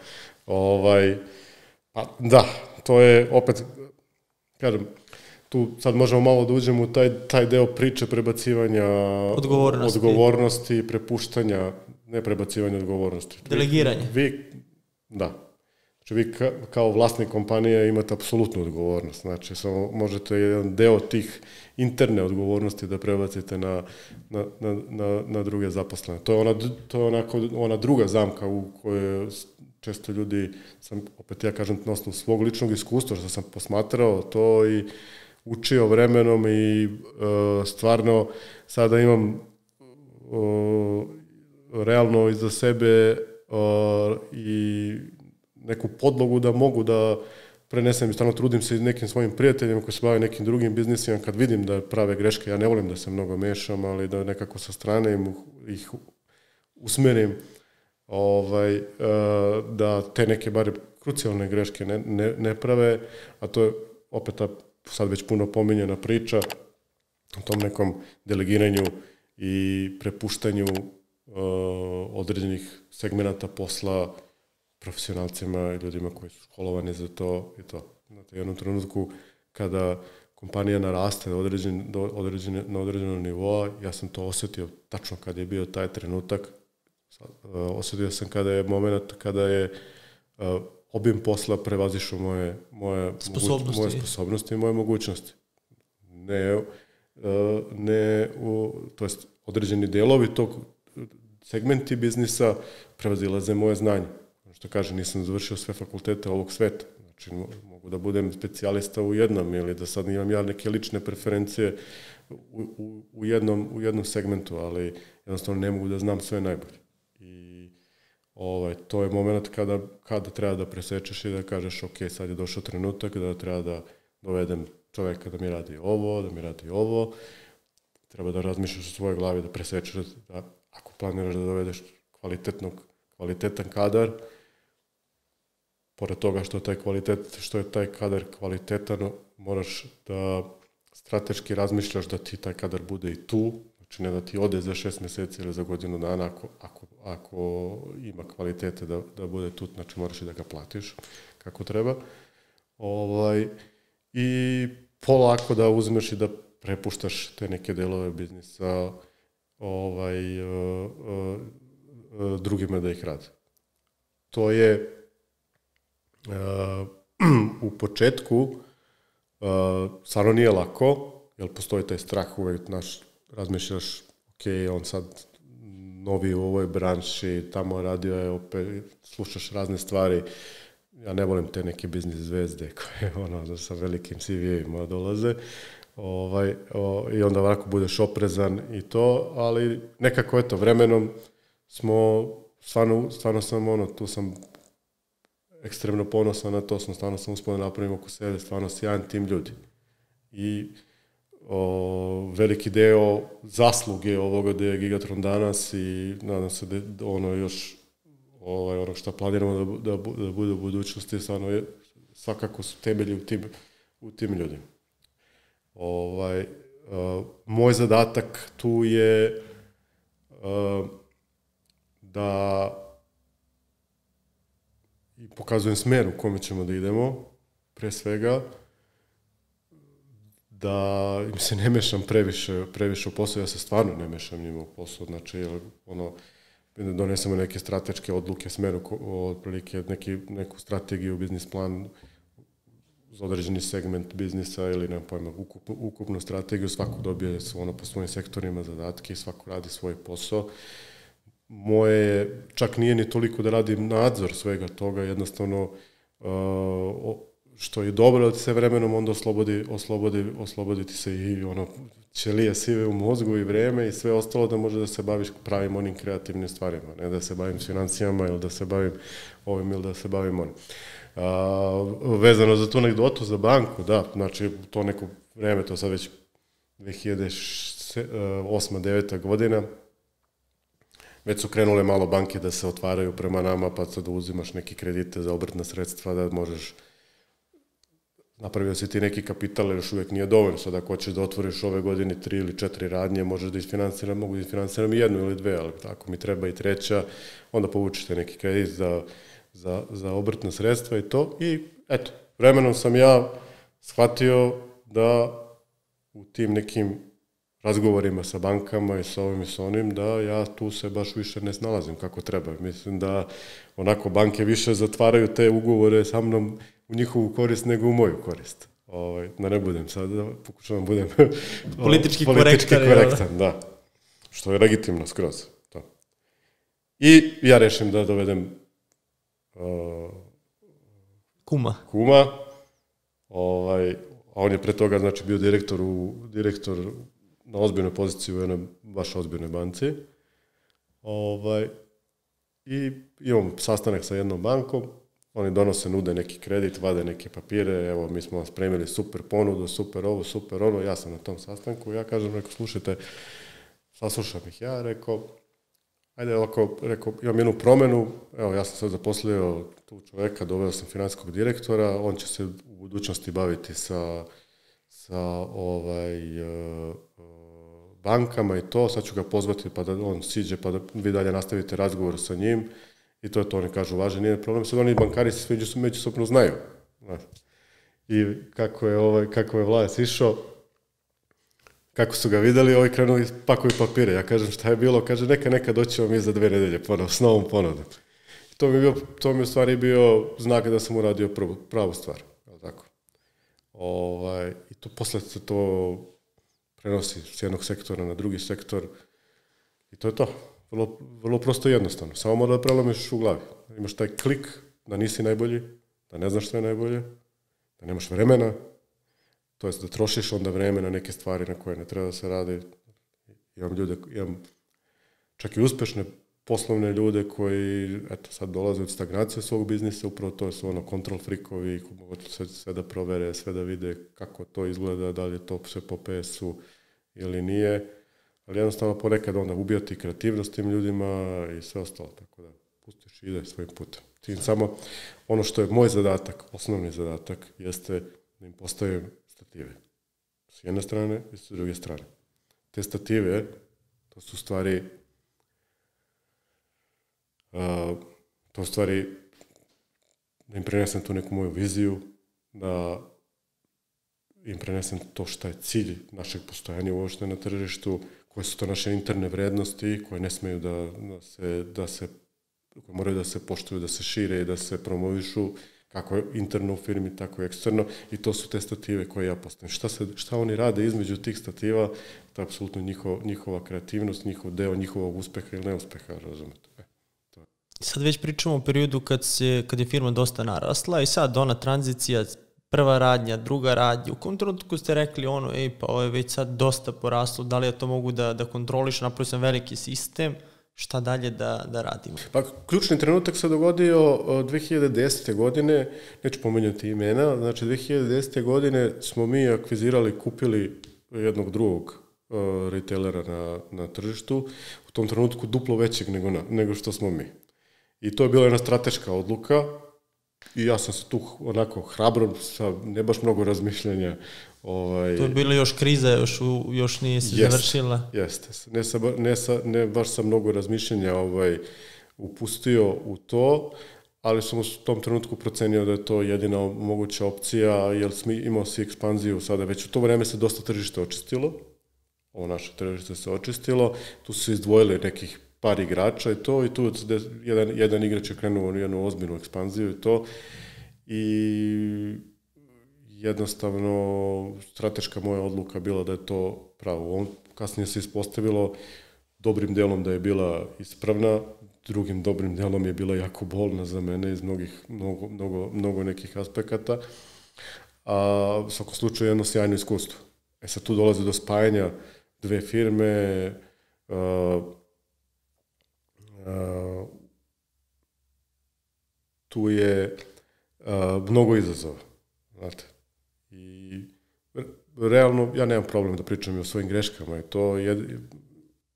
Da, to je opet, kažem, tu sad možemo malo da uđemo u taj deo priče prebacivanja odgovornosti, prepuštanja, ne prebacivanja odgovornosti. Delegiranje. Da. Znači vi kao vlasnik kompanije imate apsolutnu odgovornost. Znači samo možete jedan deo tih interne odgovornosti da prebacite na druge zaposlene. To je ona druga zamka u kojoj često ljudi, opet ja kažem na osnovu svog ličnog iskustva što sam posmatrao to i učio vremenom i stvarno sada imam realno iza sebe i neku podlogu da mogu da prenesem i stalno trudim se nekim svojim prijateljima koji se bave nekim drugim biznisima, kad vidim da prave greške, ja ne volim da se mnogo mešam, ali da nekako sa strane ih usmerim, da te neke bare krucijalne greške ne prave, a to je opet ta sad već puno pominjena priča o tom nekom delegiranju i prepuštanju određenih segmenata posla profesionalcima i ljudima koji su školovani za to i to. Znate, u jednom trenutku kada kompanija naraste na određenom nivoa, ja sam to osjetio tačno kada je bio taj trenutak. Osjetio sam kada je moment, kada je obim posla prevazišao moje sposobnosti i moje mogućnosti. To jest određeni delovi tog segmenti biznisa prevazilaze moje znanje. Što kaže, nisam završio sve fakultete ovog sveta. Znači, mogu da budem specijalista u jednom ili da sad imam ja neke lične preferencije u jednom segmentu, ali jednostavno ne mogu da znam sve najbolje. I to je moment kada treba da presečeš i da kažeš ok, sad je došao trenutak da treba da dovedem čoveka da mi radi ovo, treba da razmišljaš u svojoj glavi, da presečeš, da ako planiraš da dovedeš kvalitetan kadar, pored toga što je taj kadar kvalitetan, moraš da strateški razmišljaš da ti taj kadar bude i tu, znači ne da ti ode za 6 mjeseci ili za godinu dana ako ima kvalitete da bude tu, znači moraš i da ga platiš kako treba. I polako da uzmeš i da prepuštaš te neke delove biznisa drugima da ih rade. To je u početku stvarno nije lako, jer postoji taj strah uvek, razmišljaš, ok, on sad novi u ovoj branši, tamo radio je opet, slušaš razne stvari. Ja ne volim te neke biznis zvezde koje sa velikim CV-ima dolaze. I onda ovako budeš oprezan i to, ali nekako eto, vremenom smo, stvarno sam tu sam ekstremno ponosan na to, stvarno sam uspio da napravim oko sebe, stvarno sjajan tim ljudi. I veliki deo zasluge ovoga da je Gigatron danas i nadam se da još ono što planiramo da bude u budućnosti, stvarno svakako su temelji u tim ljudima. Moj zadatak tu je da pokazujem smer u kome ćemo da idemo, pre svega, da im se ne mešam previše u posao, ja se stvarno ne mešam njima u posao, znači donesemo neke strateške odluke, smeru, otprilike neku strategiju, biznis plan za određeni segment biznisa ili nemam pojma, ukupnu strategiju, svako dobije po svojim sektorima zadatke i svako radi svoj posao. Moje čak nije ni toliko da radim nadzor svega toga, jednostavno što je dobro da ti se vremenom onda osloboditi se i ćelije sive u mozgu i vreme i sve ostalo da može da se baviš pravim onim kreativnim stvarima, ne da se bavim s financijama ili da se bavim ovim ili da se bavim onim. Vezano za tu anegdotu za banku, da, znači to neko vreme, to sad već 2008-2009 godina, već su krenule malo banke da se otvaraju prema nama, pa sad da uzimaš neke kredite za obrtna sredstva, da možeš, napravio si ti neki kapital, jer još uvijek nije dovoljno. Sad ako hoćeš da otvoriš ove godine 3 ili 4 radnje, možeš da isfinanciram, mogu da isfinanciram 1 ili 2, ali ako mi treba i 3, onda povučite neki kredit za obrtna sredstva i to. I eto, vremenom sam ja shvatio da u tim nekim razgovorima sa bankama i sa ovim i sa onim, da ja tu se baš više ne snalazim kako treba. Mislim da onako banke više zatvaraju te ugovore sa mnom u njihovu korist nego u moju korist. Da ne budem sad, pokušavam budem politički korektan, da. Što je legitimno skroz. To. I ja rešim da dovedem kuma. A on je pre toga znači bio direktor na ozbiljnoj poziciji u jednoj baš ozbiljnoj banci. I imam sastanak sa jednom bankom Oni donose, nude neki kredit, vade neke papire, evo mi smo vam spremili super ponudu, super ovo, super ono, ja sam na tom sastanku, ja kažem, rekao, slušajte, saslušam ih ja, rekao, ajde ovako, rekao, imam jednu promjenu, evo ja sam sad zaposlio tu čovjeka, doveo sam financijskog direktora, on će se u budućnosti baviti sa bankama i to, sad ću ga pozvati pa da on siđe, pa da vi dalje nastavite razgovor sa njim i to je to, oni kažu, važno, nije problem, sad oni bankari se međusobno znaju. I kako je Vlajas išao, kako su ga vidjeli, ovi krenuli pakuju papire. Ja kažem, šta je bilo? Kaže, neka doći vam za 2 nedelje ponovo, s novom ponudom. To mi je u stvari bio znak da sam uradio pravu stvar. Tako. I to posle se to prenosi s jednog sektora na drugi sektor. I to je to. Vrlo, vrlo prosto i jednostavno. Samo mora da prelomiš u glavi. Imaš taj klik da nisi najbolji, da ne znaš što je najbolje, da nemaš vremena, to jest da trošiš onda vreme na neke stvari na koje ne treba da se radi. Imam čak i uspešne poslovne ljude koji sad dolaze od stagnacije svog biznisa, upravo to su control freakovi, mogu sve da provere, sve da vide kako to izgleda, da li je to sve po PS-u ili nije, ali jednostavno ponekad onda ubijati kreativnost tim ljudima i sve ostalo, tako da pustiš i ide svojim putem. Tim samo ono što je moj zadatak, osnovni zadatak, jeste da im postavim stative. S jedne strane i s druge strane. Te stative, to su stvari da im prenesem tu neku moju viziju, da im prenesem to šta je cilj našeg postojanja uopšte na tržištu, koje su to naše interne vrednosti, koje ne smeju koje moraju da se poštuju, da se šire i da se promovišu, kako interno u firmi, tako i eksterno, i to su te stative koje ja postavim. Šta oni rade između tih stativa, to je apsolutno njihova kreativnost, njihov deo njihovog uspeha ili neuspeha, razumete. Sad već pričamo o periodu kad je firma dosta narasla i sad ona tranzicija, prva radnja, druga radnja, u kom trenutku ste rekli pa ovo je već sad dosta poraslo, da li ja to mogu da kontroliš, napravio sam veliki sistem, šta dalje da radimo? Pa ključni trenutak se dogodio 2010. godine, neću pomenjati imena, znači 2010. godine smo mi akvizirali, kupili jednog drugog retailera na tržištu, u tom trenutku duplo većeg nego što smo mi. I to je bila jedna strateška odluka i ja sam se tu onako hrabro, sa ne baš mnogo razmišljanja. To je bila još kriza, još nije se završila. Jeste, ne baš sa mnogo razmišljanja upustio u to, ali sam u tom trenutku procenio da je to jedina moguća opcija, jer imao si ekspanziju sada, već u to vreme se dosta tržište očistilo, ovo naše tržište se očistilo, tu su se izdvojili nekih par igrača i tu jedan igrač je krenuo u jednu ozbiljnu ekspanziju i to, i jednostavno strateška moja odluka bila da je to pravo. Kasnije se ispostavilo dobrim delom da je bila ispravna, drugim dobrim delom je bila jako bolna za mene iz mnogo nekih aspekata, a u svakom slučaju jedno sjajno iskustvo. Sad tu dolazi do spajanja dve firme, tu je mnogo izazova, znate. I realno, ja nemam problem da pričam i o svojim greškama i to je...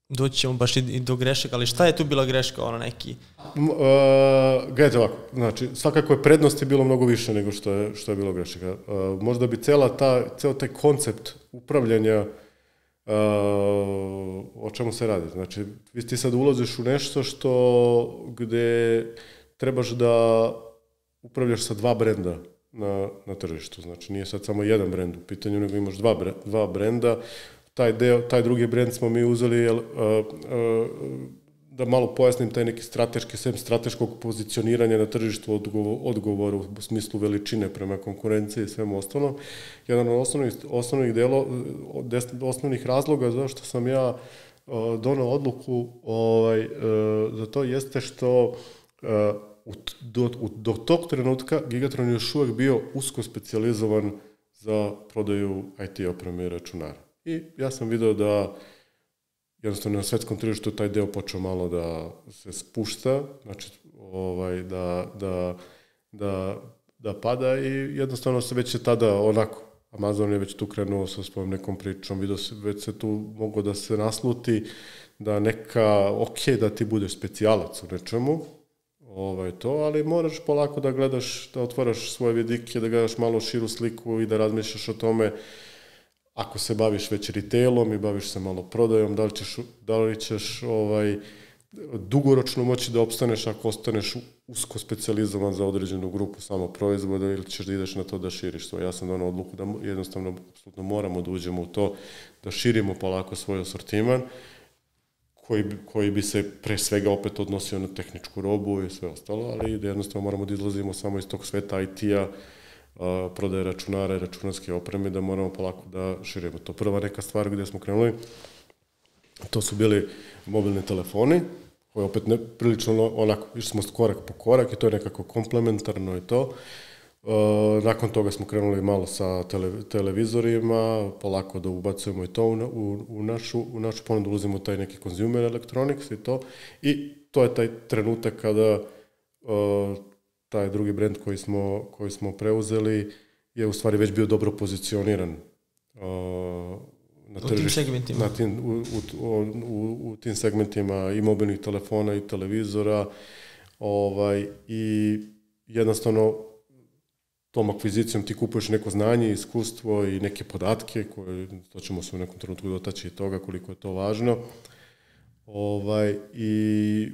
Doći ćemo baš i do grešaka, ali šta je tu bila greška, neki? Gledajte ovako, znači, svakako je prednosti bilo mnogo više nego što je bilo grešaka. Možda bi ceo taj koncept upravljanja, o čemu se radi. Znači, ti sad ulaziš u nešto gde trebaš da upravljaš sa 2 brenda na tržištu. Znači, nije sad samo jedan brend u pitanju, nego imaš dva brenda. Taj drugi brend smo mi uzeli, da malo pojasnim, taj neki strateškog pozicioniranja na tržištu, odgovor u smislu veličine prema konkurenciji i svemu ostalom. Jedan od osnovnih razloga zašto sam ja donao odluku za to jeste što do tog trenutka Gigatron je još uvek bio usko specijalizovan za prodaju IT opreme i računara. I ja sam video da jednostavno na svetskom tržištu taj deo počeo malo da se spušta, znači da da pada i jednostavno se već je tada onako, Amazon je već tu krenuo sa svojom nekom pričom, već se tu moglo da se nasluti da neka, da ti budeš specijalac u nečemu, ali moraš polako da gledaš, da otvaraš svoje vidike, da gledaš malo širu sliku i da razmišljaš o tome ako se baviš već retailom i baviš se malo prodajom, da li ćeš dugoročno moći da opstaneš ako ostaneš usko specijalizovan za određenu grupu samo proizvoda ili ćeš da ideš na to da širiš svoj. Ja sam donao odluku da jednostavno apsolutno moramo da uđemo u to, da širimo polako svoj asortiman koji bi se pre svega opet odnosio na tehničku robu i sve ostalo, ali da jednostavno moramo da izlazimo samo iz tog sveta IT-a, prodaje računara i računarske opreme, da moramo polako da širimo. To prva neka stvar gdje smo krenuli, to su bili mobilni telefoni, koji opet prilično onako, išli smo korak po korak i to je nekako komplementarno i to. Nakon toga smo krenuli malo sa televizorima, polako da ubacujemo i to u našu ponudu, ulazimo taj neki consumer electronics i to. I to je taj trenutak kada taj drugi brend koji smo preuzeli je u stvari već bio dobro pozicioniran na tržištu, u tim segmentima i mobilnih telefona i televizora i jednostavno tom akvizicijom ti kupuješ neko znanje, iskustvo i neke podatke koje, to ćemo se u nekom trenutku dotaći i toga koliko je to važno, i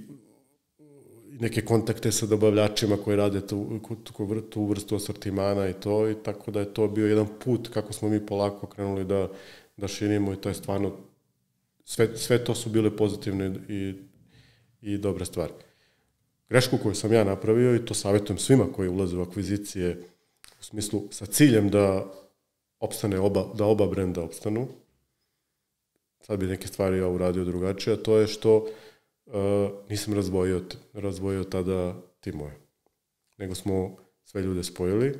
neke kontakte sa dobavljačima koji rade tu vrstu asortimana i to, i tako da je to bio jedan put kako smo mi polako krenuli da širimo i to je stvarno, sve to su bile pozitivne i dobre stvari. Grešku koju sam ja napravio, i to savjetujem svima koji ulaze u akvizicije, u smislu sa ciljem da oba brenda opstanu, sad bi neke stvari ja uradio drugačije, a to je što nisam razdvojio tada timove, nego smo sve ljude spojili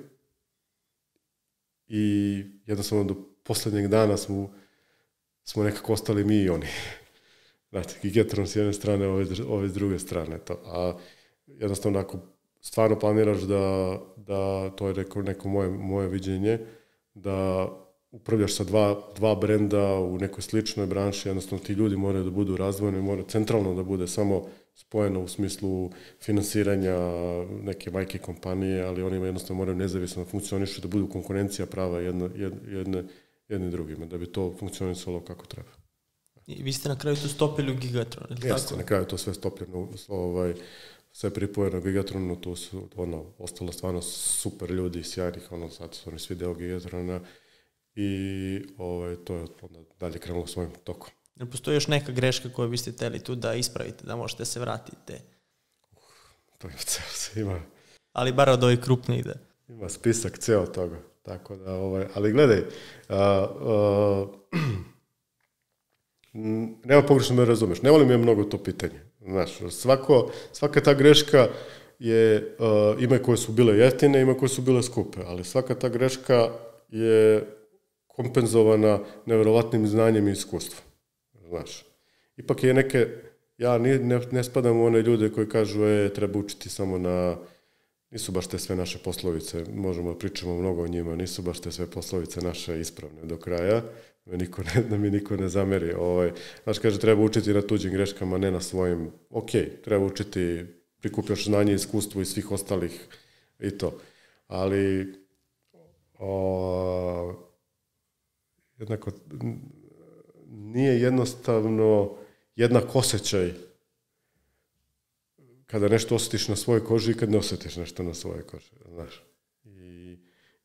i jednostavno do posljednjeg dana smo nekako ostali mi i oni. Znate, Gigatron s jedne strane, ove s druge strane. A jednostavno, ako stvarno planiraš da to je neko moje viđenje, da upravljaš sa dva brenda u nekoj sličnoj branši, jednostavno ti ljudi moraju da budu razdvojeni, moraju centralno da bude samo spojeno u smislu finansiranja neke majke kompanije, ali oni jednostavno moraju nezavisno funkcionišu, da budu konkurencija prava jedni drugima, da bi to funkcionisalo kako treba. I vi ste na kraju to stopili u Gigatron, ili tako? Jeste, na kraju to sve stopljeno, sve pripojeno u Gigatronu, tu su ostalo stvarno super ljudi, sjajnih, sad su oni svi deo Gigatrona i to je onda dalje krenulo svojim tokom. Ne postoji još neka greška koju biste htjeli tu da ispravite, da možete se vratiti? To je ceo se ima. Ali bar od ovih krupnih da. Ima spisak ceo toga, tako da, ali gledaj, nema pogrešno me razumeš, ne volim je mnogo to pitanje. Znaš, svaka ta greška je, ima koje su bile jeftine, ima koje su bile skupe, ali svaka ta greška je kompenzovana neverovatnim znanjem i iskustvom. Znaš, ipak je neke, ja ne spadam u one ljude koji kažu treba učiti samo nisu baš te sve naše poslovice, možemo da pričamo mnogo o njima, nisu baš te sve poslovice naše ispravne do kraja, da mi niko ne zameri. Znaš, kaže, treba učiti na tuđim greškama, ne na svojim. Ok, treba učiti, prikupljaš znanje i iskustvo iz svih ostalih i to. Ali jednako nije jednostavno jednak osjećaj kada nešto osjetiš na svojoj koži i kad ne osjetiš nešto na svojoj koži, znaš. I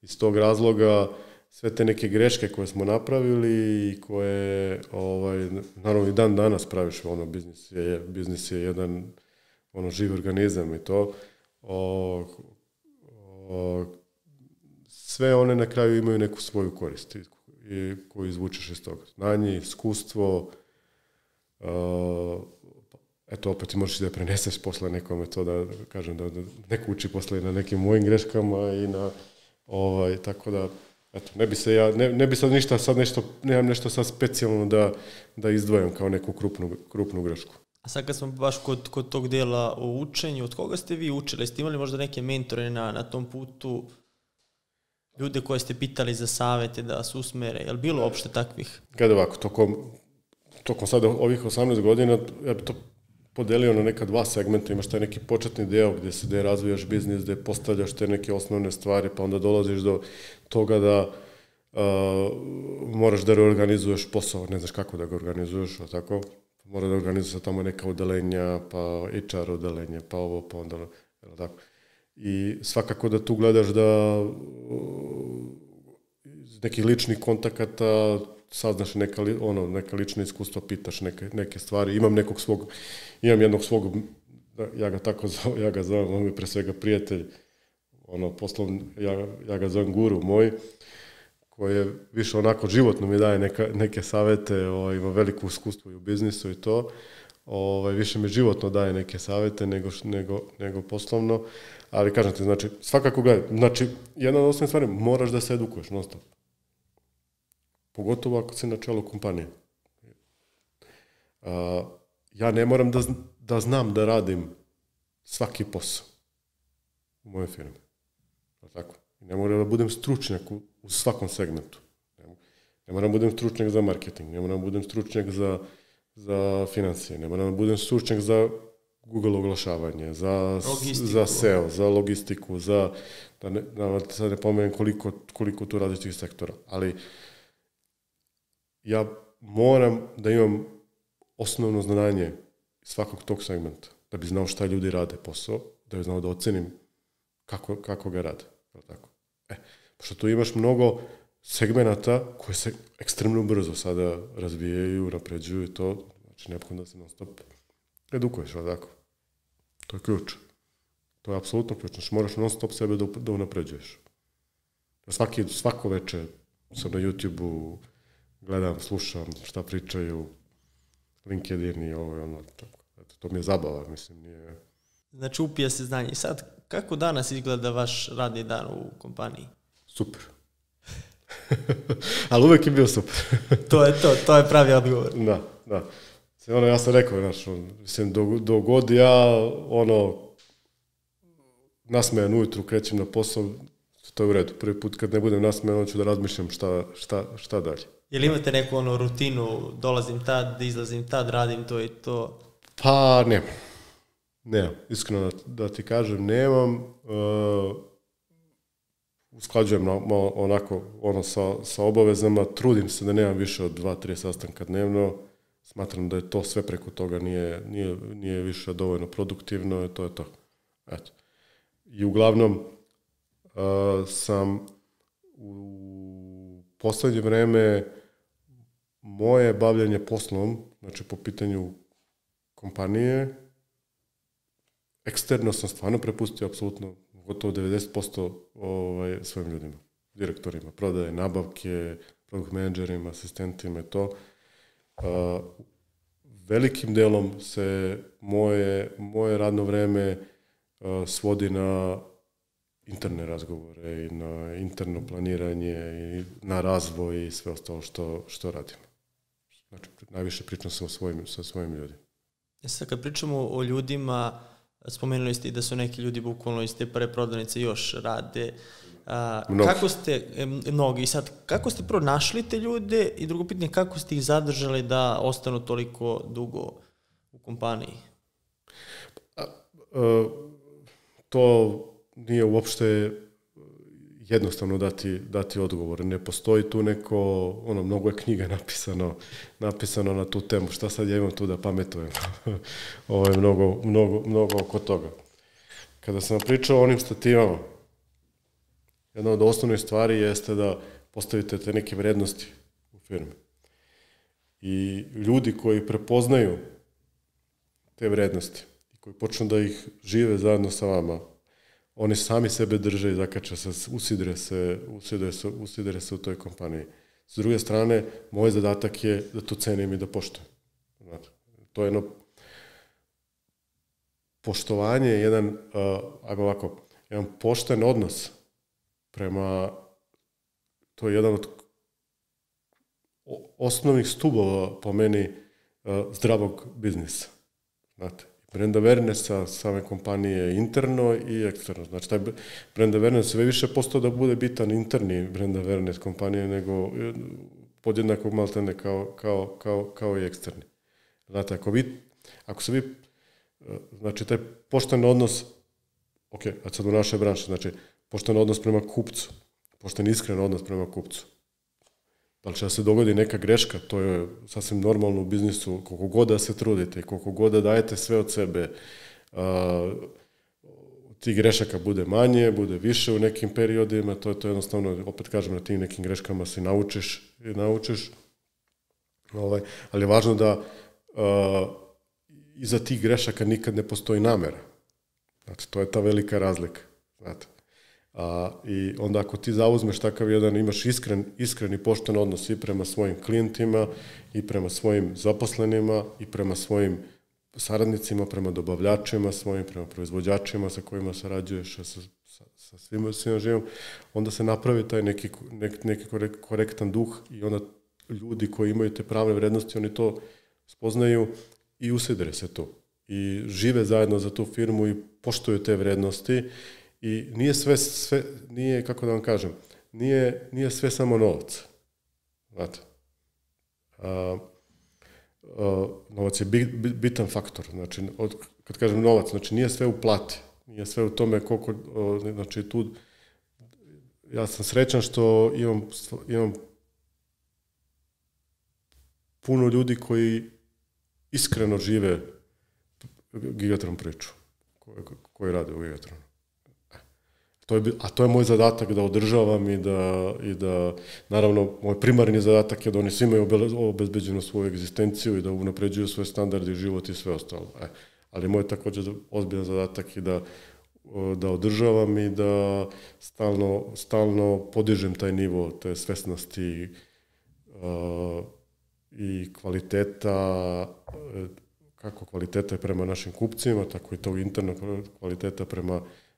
iz tog razloga sve te neke greške koje smo napravili i koje, naravno i dan danas praviš, biznis je jedan živ organizam i to, sve one na kraju imaju neku svoju korist koju izvučeš iz toga. Znanje, iskustvo, eto, opet ti možeš da preneseš posle nekome to, da kažem, da neko uči posle na nekim mojim greškama i na, tako da, eto, ne bi sad ništa, nemam nešto sad specijalno da izdvojam kao neku krupnu grešku. A sad kad smo baš kod tog dela o učenju, od koga ste vi učili? Ste imali možda neke mentore na tom putu, ljude koje ste pitali za savete da vas usmere? Je li bilo uopšte takvih? Kada ovako, tokom sada ovih 18 godina, ja bi to podelio na neka dva segmenta. Imaš taj neki početni deo gde razvijaš biznis, gde postavljaš te neke osnovne stvari, pa onda dolaziš do toga da moraš da reorganizuješ posao, ne znaš kako da ga organizuješ, tako? Mora da organizuje tamo neka odelenja, pa HR odelenje, pa ovo, pa onda, tako. I svakako da tu gledaš da iz nekih ličnih kontakata saznaš neka lična iskustva, pitaš neke stvari. Imam jednog svog, ja ga zovem, on je pre svega prijatelj, poslovni, ja ga zovem guru moj, koji je više onako životno mi daje neke savete, ima veliko iskustvo i u biznisu i to, više mi životno daje neke savete nego poslovno, ali kažem ti, znači, svakako gledaj, znači, jedna od osnovnih stvari, moraš da se edukuješ non stop. Pogotovo ako si na čelu kompanije. Ja ne moram da znam da radim svaki posao u mojoj firmi. Tako. Ne moram da budem stručnjak u svakom segmentu. Ne moram da budem stručnjak za marketing, ne moram da budem stručnjak za financije, ne moram da budem stručnjak za Google oglašavanje, za SEO, za logistiku, da sad ne pomenem koliko tu različitih sektora. Ali ja moram da imam osnovno znanje svakog tog segmenta, da bi znao šta ljudi rade posao, da bi znao da ocenim kako ga rade. Tako. Pošto tu imaš mnogo segmenata koji se ekstremno brzo sada razvijaju, napređuju i to, znači neophodno da se non stop edukuješ, tako. To je ključ. To je apsolutno ključ. Znači moraš non stop sebe da unapređuješ. Svako večer sam na YouTube-u, gledam, slušam šta pričaju, LinkedIn i ovo i ono, tako. To mi je zabava, mislim, nije... Znači upija se znanje. I sad, kako danas izgleda vaš radni dan u kompaniji? Super. Ali uvek je bio super. To je pravi odgovor. Da. Ja sam rekao, mislim, do god ja, nasmejan ujutru krećem na posao, to je u redu. Prvi put kad ne budem nasmejan, onda ću da razmišljam šta dalje. Jel imate neku rutinu, dolazim tad, izlazim tad, radim to i to? Pa, nemam. Iskreno da ti kažem, nemam. Usklađujem onako sa obavezama, trudim se da nemam više od 2-3 sastanka dnevno. Smatram da je to sve preko toga, nije više dovoljno produktivno i to je to. Eto. I uglavnom sam u poslednje vreme moje bavljanje poslom, znači po pitanju kompanije, eksterno sam stvarno prepustio apsolutno gotovo 90% svojim ljudima, direktorima, prodaje, nabavke, produkt menadžerima, asistentima i to. Velikim delom se moje radno vreme svodi na interne razgovore i na interno planiranje i na razvoj i sve ostalo što radimo. Znači, najviše pričam sa svojim ljudima. Sad kad pričamo o ljudima, spomenuli ste i da su neki ljudi bukvalno iz te prve prodavnice još rade. Kako ste prvo našli te ljude i drugo pitanje, kako ste ih zadržali da ostanu toliko dugo u kompaniji? To nije uopšte jednostavno dati odgovor. Ne postoji tu mnogo je knjiga napisano na tu temu. Šta sad ja imam tu da pametujem? Ovo je mnogo oko toga. Kada sam pričao o onim stativama, jedna od osnovnih stvari jeste da postavite te neke vrednosti u firmi. I ljudi koji prepoznaju te vrednosti i koji počnu da ih žive zajedno sa vama, oni sami sebe drže i zakače se, usidre se u toj kompaniji. S druge strane, moj zadatak je da to cenim i da poštujem. To je jedno poštovanje, jedan pošten odnos prema, to je jedan od osnovnih stubova po meni zdravog biznisa. Znate, brand awarenessa same kompanije interno i eksterno. Znači, taj brand awareness sve više postao da bude bitan interni brand awareness kompanije nego podjednako maltene kao i eksterni. Znate, ako se vi, znači, taj pošten odnos, ok, a sad u našoj branši, znači, pošten odnos prema kupcu, pošten iskren odnos prema kupcu. Da li će da se dogodi neka greška, to je sasvim normalno u biznisu, koliko god da se trudite, koliko god da dajete sve od sebe, tih grešaka bude manje, bude više u nekim periodima, to je jednostavno, opet kažem, na tim nekim greškama se naučiš. Ali je važno da iza tih grešaka nikad ne postoji namera. Znači, to je ta velika razlika. Znate. I onda ako ti zauzmeš takav jedan, imaš iskren i pošten odnos i prema svojim klijentima, i prema svojim zaposlenima, i prema svojim saradnicima, prema dobavljačima svojim, prema proizvođačima sa kojima sarađuješ, sa svima živom, onda se napravi taj neki korektan duh i onda ljudi koji imaju te prave vrednosti, oni to spoznaju i usidre se tu. I žive zajedno za tu firmu i poštuju te vrednosti i nije sve, nije, kako da vam kažem, nije sve samo novac. Znate. Novac je bitan faktor. Znači, kad kažem novac, znači nije sve u plati. Nije sve u tome koliko, znači tu, ja sam srećan što imam puno ljudi koji iskreno žive Gigatron priču, koji rade u Gigatronu. A to je moj zadatak da održavam i da naravno, moj primarni zadatak je da oni svi imaju obezbeđenu svoju egzistenciju i da unapređuju svoje standarde, život i sve ostalo. Ali moj također ozbiljan zadatak je da održavam i da stalno podižem taj nivo te svesnosti i kvaliteta, kako kvaliteta je prema našim kupcima, tako i tog internog kvaliteta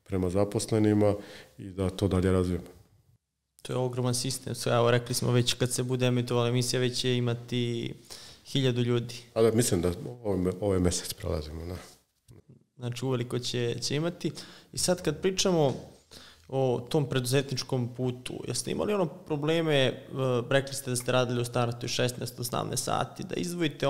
prema zaposlenima i da to dalje razvijemo. To je ogroman sistem. Evo, rekli smo već kad se bude emitovala emisija, već će imati 1000 ljudi. Da, mislim da ovaj mesec prelazimo. Da. Znači, uveliko će imati. I sad kad pričamo o tom preduzetničkom putu, jeste imali probleme, rekli ste da ste radili u startu 16-18 sati, da izdvojite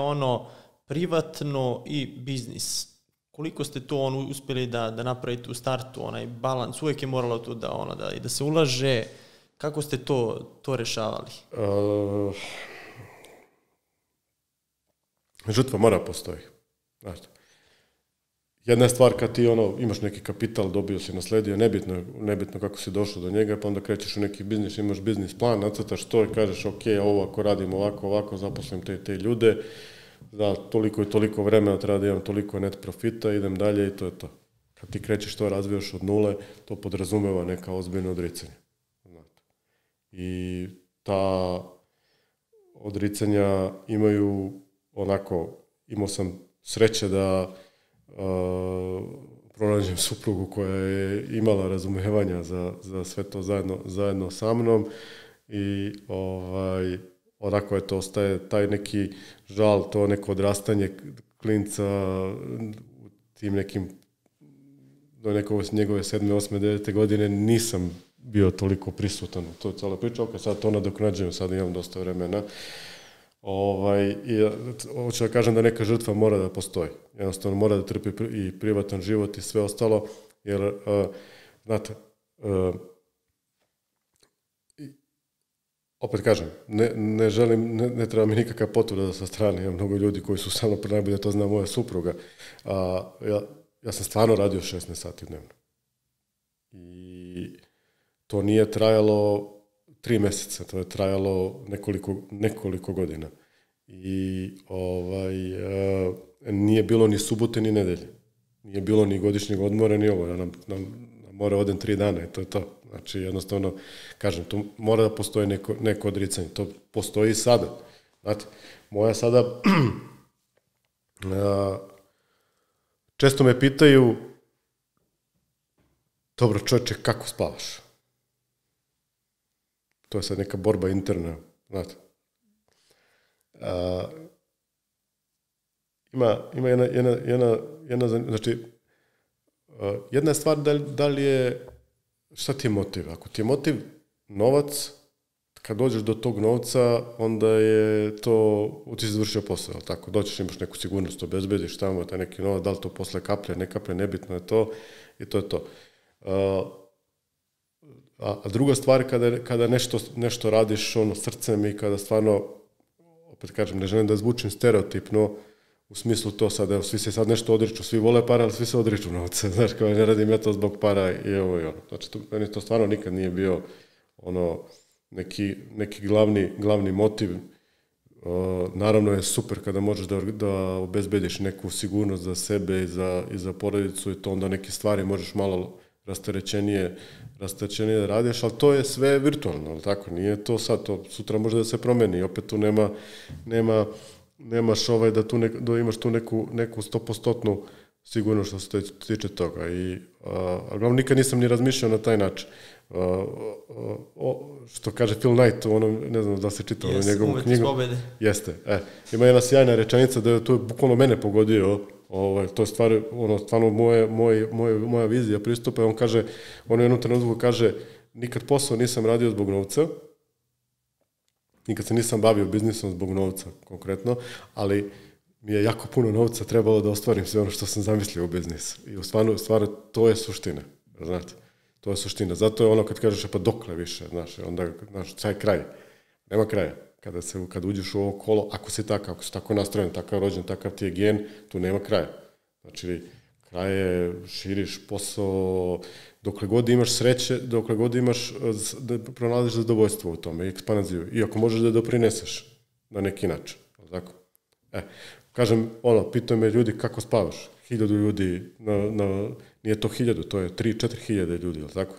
privatno i biznis. Koliko ste to uspjeli da napravite u startu, onaj balans, uvijek je moralo tu da se ulaže, kako ste to rešavali? Žrtva mora postoji. Znači, jedna je stvar kad ti imaš neki kapital, dobio si, nasledio, nebitno kako si došao do njega, pa onda krećeš u neki biznis, imaš biznis plan, nacrtaš to i kažeš ok, ovo ako radim ovako, zaposlim te ljude, za toliko i toliko vremena treba da imam toliko net profita, idem dalje i to je to. Kad ti krećeš to, razvijaš od nule, to podrazumeva neka ozbiljna odricanja. I ta odricanja imaju imao sam sreće da pronađem suprugu koja je imala razumevanja za sve to zajedno sa mnom i onako je to ostaje taj neki žal, to neko odrastanje klinca u tim nekim do njegove 7., 8., 9. godine nisam bio toliko prisutan u toj cijeloj priči, sad to nadoknađujem, sad imam dosta vremena. Hoću da kažem da neka žrtva mora da postoji. Jednostavno mora da trpi i privatan život i sve ostalo, jer, znate, opet kažem, ne želim, ne treba mi nikakva potvrda sa strane, imam mnogo ljudi koji su samo najbolje, to zna moja supruga. Ja sam stvarno radio 16 sati dnevno. I to nije trajalo 3 mjeseca, to je trajalo nekoliko godina. I nije bilo ni subote ni nedelje. Nije bilo ni godišnjeg odmora ni ovo. Ja na more odem 3 dana i to je to. Znači, jednostavno, kažem, tu mora da postoji neko odricanje. To postoji i sada. Znate, moja sada... često me pitaju, dobro čovječe, kako spavaš? To je sad neka borba interna, znate. ima znači, jedna je stvar da li je, šta ti je motiv? Ako ti je motiv novac, kad dođeš do tog novca, onda je to, ti si završio posao, ali tako, doćeš, imaš neku sigurnost, obezbediš tamo, taj neki novac, da li to posle kaplje, ne kaplje, nebitno je to, i to je to. A druga stvar, kada nešto radiš srcem i kada stvarno, opet kažem, ne želim da zvučim stereotipno, u smislu to sad, evo, svi se sad nešto odriču, svi vole para, ali svi se odriču novca, znaš, kao ne radim ja to zbog para i ovo i ono. Znači, meni to stvarno nikad nije bio neki glavni motiv. Naravno je super kada možeš da obezbediš neku sigurnost za sebe i za porodicu i to onda neke stvari možeš malo rasterećenije da radiš, ali to je sve virtualno, ali tako, nije to sad, to sutra može da se promeni, opet tu nemaš da imaš tu neku 100% sigurno što se tiče toga. Ali nikad nisam ni razmišljao na taj način. Što kaže Phil Knight, ne znam da se čitao njegovu knjigu. Jeste. Ima jedna sjajna rečenica da je to bukvalno mene pogodio, to je stvarno moja vizija pristupa. On kaže, on u jednom trenutku kaže, nikad posao nisam radio zbog novca, nikad se nisam bavio biznisom zbog novca konkretno, ali mi je jako puno novca trebalo da ostvarim sve ono što sam zamislio u biznisu. I stvarno to je suština, znate. To je suština. Zato je ono kad kažeš pa dokle više, znaš, onda, znaš, taj kraj. Nema kraja. Kad uđeš u ovo kolo, ako si tako nastrojen, takav rođen, takav ti je gen, tu nema kraja. Znači, kraj je, širiš posao, dokle god imaš sreće, dokle god imaš, pronalaziš zadovoljstvo u tome i ekspanziju. I ako možeš da doprineseš na neki način. Tako? Kažem, pitaju me ljudi kako spavaš. 1000 ljudi, nije to 1000, to je 3-4 hiljade ljudi, ali tako?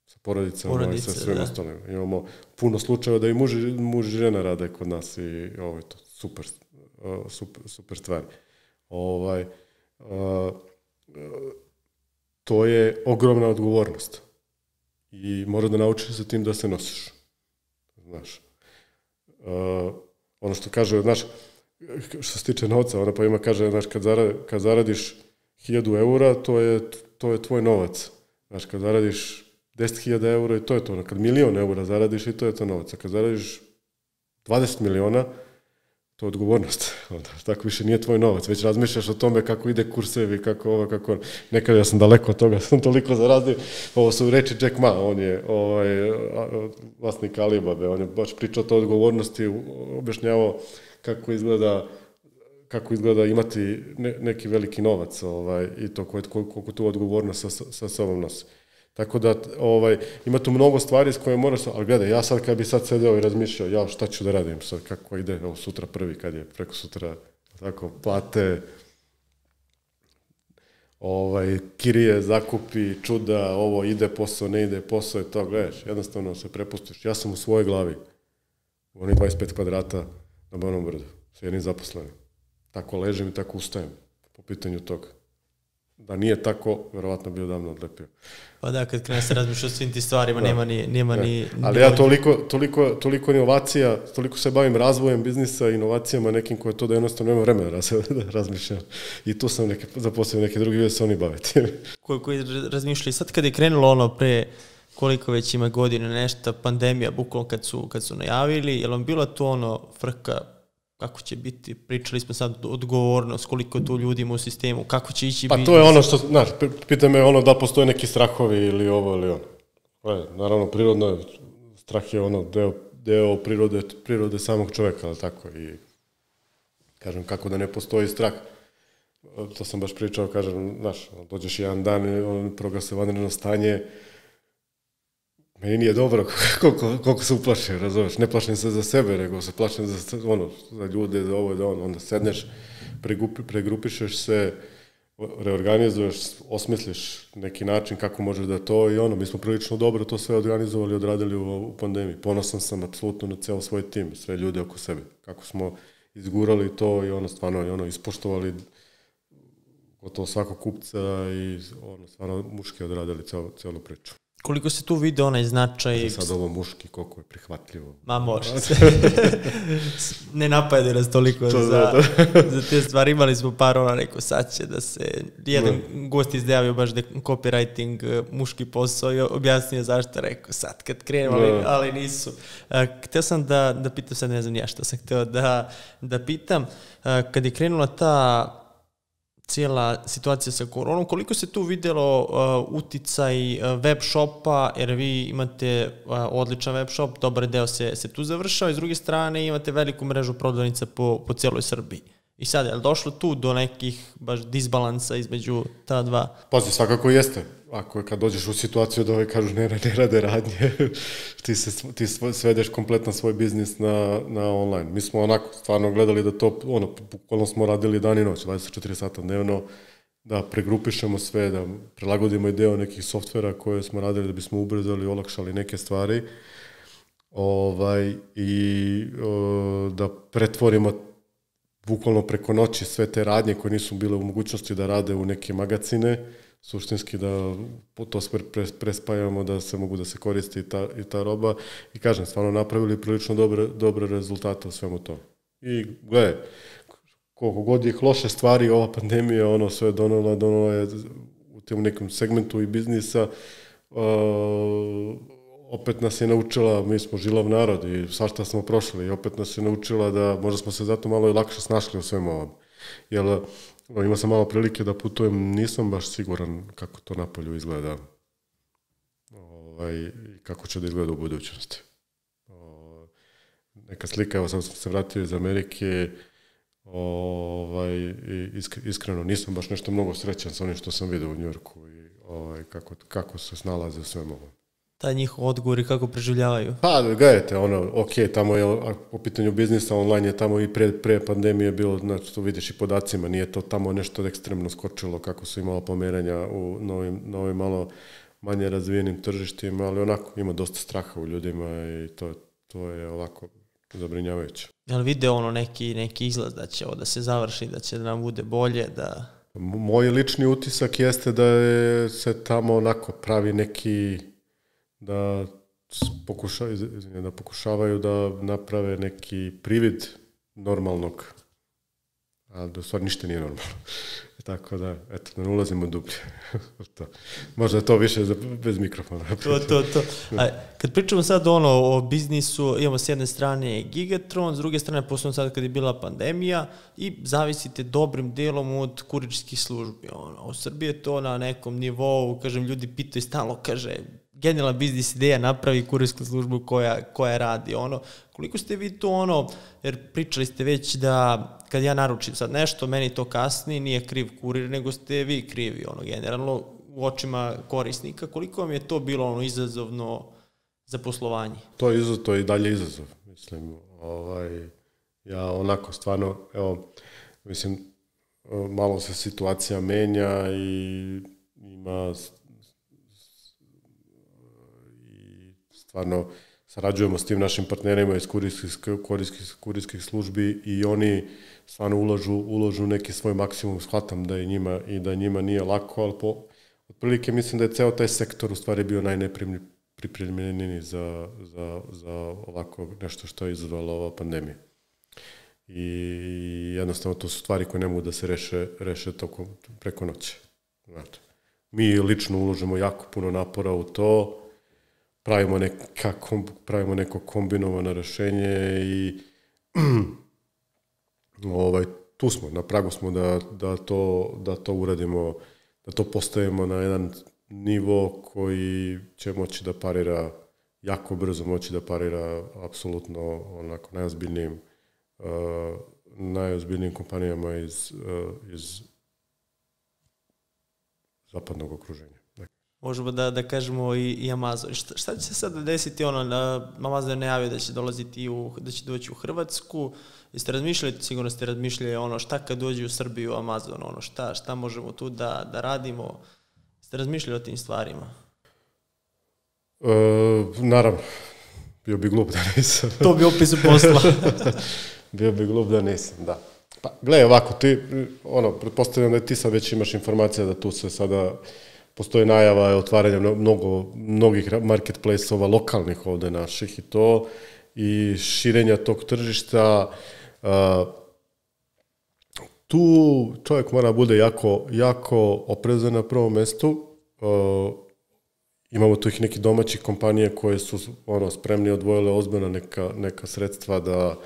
Sa porodicama i sa svim ostalim. Imamo puno slučajeva da i muž i žena rade kod nas i ovo je to super stvar. To je ogromna odgovornost i moraš da naučiš sa tim da se nosiš. Znaš. Ono što kaže, znaš, što se tiče novca, ona pa ima kaže, znaš, kad zaradiš 1000 eura, to je tvoj novac. Znaš, kad zaradiš 10.000 eura i to je to. Kad 1.000.000 eura zaradiš i to je to novac. A kad zaradiš 20 miliona, to je odgovornost. Tako više nije tvoj novac. Već razmišljaš o tome kako ide kursevi, kako ovo, kako ono. Nekad ja sam daleko od toga, sam toliko zaradio. Ovo su reči Jack Ma, on je vlasnik Alibabe, on je baš pričao o toj odgovornosti, objašnjavao kako izgleda imati neki veliki novac i to koliko tu odgovornost sa sobom nosi. Tako da ima tu mnogo stvari s koje moraš, ali gledaj, ja sad kad bi sad sedeo i razmišljao, šta ću da radim sad, kako ide, sutra prvi, kad je preko sutra, tako, plate, kirije, zakupi, čuda, ovo ide posao, ne ide posao i to, gledaš, jednostavno se prepustiš. Ja sam u svojoj glavi, u onih 25 kvadrata na Banovom Brdu, sa jednim zaposlenim. Tako ležem i tako ustajem po pitanju toga. Da nije tako, verovatno bi odavno odlepio. Pa da, kad krene se razmišlja o svim ti stvarima, nema ni... Ali ja toliko inovacija, toliko se bavim razvojem biznisa, inovacijama nekim koje to da jednostavno nema vremena da razmišljam. I tu sam zaposlio neke drugi, se oni baviti. Koji razmišljali, sad kad je krenulo pre koliko već ima godine nešto, pandemija, bukvalno kad su najavili, je li vam bila to frka kako će biti, pričali smo sad odgovornost, koliko tu ljudi ima u sistemu, kako će ići biznis. Pa to je ono što, znaš, pita me da postoje neki strahovi ili ovo ili ono. Naravno, prirodno, strah je deo prirode samog čoveka, ali tako, i kažem, kako da ne postoji strah. To sam baš pričao, kažem, znaš, dođeš jedan dan, proglase vanredno stanje, meni nije dobro koliko se uplašim, razumeš, ne plašim se za sebe, nego se plašim za ljude, za ovo i da ono, onda sedneš, pregrupišeš se, reorganizuješ, osmisliš neki način kako možeš da to i mi smo prilično dobro to sve organizovali i odradili u pandemiji. Ponosan sam apsolutno na ceo svoj tim, sve ljude oko sebe, kako smo izgurali to i stvarno ispoštovali gotovo svakog kupca i stvarno muški odradili celu priču. Koliko se tu vide onaj značaj... Sad ovo muški, koliko je prihvatljivo. Ma može se. Ne napadaju nas toliko za te stvari. Imali smo par rekao, sad će da se... Jedan gost izdjavio baš da je copywriting muški posao i objasnio zašto, rekao sad kad krenemo, ali nisu. Htio sam da pitam, sad ne znam ja što sam htio da pitam, kad je krenula ta cijela situacija sa koronom, koliko se tu vidjelo uticaj web shopa, jer vi imate odličan web shop, dobar deo se tu završava i s druge strane imate veliku mrežu prodavnica po cijeloj Srbiji. I sad, je li došlo tu do nekih baš disbalansa između ta dva? Pazi, svakako jeste. Kad dođeš u situaciju da kažu ne rade radnje, ti svedeš kompletan svoj biznis na online. Mi smo onako stvarno gledali da to, bukvalno smo radili dan i noć, 24 sata dnevno, da pregrupišemo sve, da prilagodimo i deo nekih softvera koje smo radili da bismo ubrzali, olakšali neke stvari i da pretvorimo bukvalno preko noći sve te radnje koje nisu bile u mogućnosti da rade u neke magazine, suštinski da to sve prespajamo, da se mogu da se koristi i ta roba. I kažem, stvarno napravili prilično dobre rezultate u svemu to. I gledaj, koliko god je loše stvari, ova pandemija sve donela je u tem nekom segmentu i biznisa, opet nas je naučila, mi smo žilav narod i svašta smo prošli i opet nas je naučila da možda smo se zato malo i lakše snašli u svemu ovom. Jer imao sam malo prilike da putujem, nisam baš siguran kako to napolju izgleda i kako će da izgleda u budućnosti. Neka slika, evo sam se vratio iz Amerike, iskreno nisam baš nešto mnogo srećan sa onim što sam vidio u Njujorku i kako se snalaze u svemu ovom. Taj njihov odgovor i kako preživljavaju? Pa, gledajte, tamo je, po pitanju biznisa online je tamo i pre pandemije bilo, znači to vidiš i podacima, nije to tamo nešto ekstremno skočilo kako su imala pomeranja u novim malo manje razvijenim tržištima, ali onako ima dosta straha u ljudima i to je ovako zabrinjavajuće. Jel vide neki izlaz da će ovo da se završi, da će da nam bude bolje, da... Moj lični utisak jeste da se tamo onako pravi neki... da pokušavaju da naprave neki privid normalnog, a da u stvari ništa nije normalno. Tako da, eto, da ne ulazimo dublje. Možda je to više bez mikrofona. To. Kad pričamo sad o biznisu, imamo s jedne strane Gigatron, s druge strane, posebno sad kad je bila pandemija, i zavisite dobrim delom od kurirskih službi. U Srbiji je to na nekom nivou, kažem, ljudi pitaju stalno, kaže, genijalna biznis ideja, napravi kurirsku službu koja radi. Koliko ste vi to, jer pričali ste već da kad ja naručim sad nešto, meni to kasni, nije kriv kurir, nego ste vi krivi, generalno, u očima korisnika. Koliko vam je to bilo izazovno za poslovanje? To je i dalje izazov, mislim. Ja onako stvarno, mislim, malo se situacija menja i ima... Stvarno sarađujemo s tim našim partnerima iz kurirskih službi i oni stvarno ulažu neki svoj maksimum, shvatam da je njima nije lako, ali otprilike mislim da je ceo taj sektor u stvari bio najnepripremljeniji za ovako nešto što je izazvala ova pandemija. I jednostavno to su stvari koje ne mogu da se reše preko noći. Mi lično uložimo jako puno napora u to, pravimo neko kombinovano rešenje i tu smo, na pragu smo da to uradimo, da to postavimo na jedan nivo koji će moći da parira, jako brzo moći da parira apsolutno onako najozbiljnijim kompanijama iz zapadnog okruženja. Možemo da kažemo i Amazon. Šta će se sada desiti? Amazon je najavio da će dolaziti da će doći u Hrvatsku. Jeste razmišljali, sigurno ste razmišljali šta kad dođe u Srbiju Amazon, šta možemo tu da radimo? Ste razmišljali o tim stvarima? Naravno. Bio bi glup da nisam. To bi opis posla. Bio bi glup da nisam, da. Pa, gledaj ovako, ti, pretpostavljam da ti sad već imaš informacija da tu se sada postoje najava otvaranja mnogih marketplace-ova lokalnih ovde naših i to, i širenja tog tržišta. Tu čovjek mora bude jako oprezan na prvom mestu. Imamo tu ih neki domaćih kompanije koje su spremni odvojile ozbiljna neka sredstva da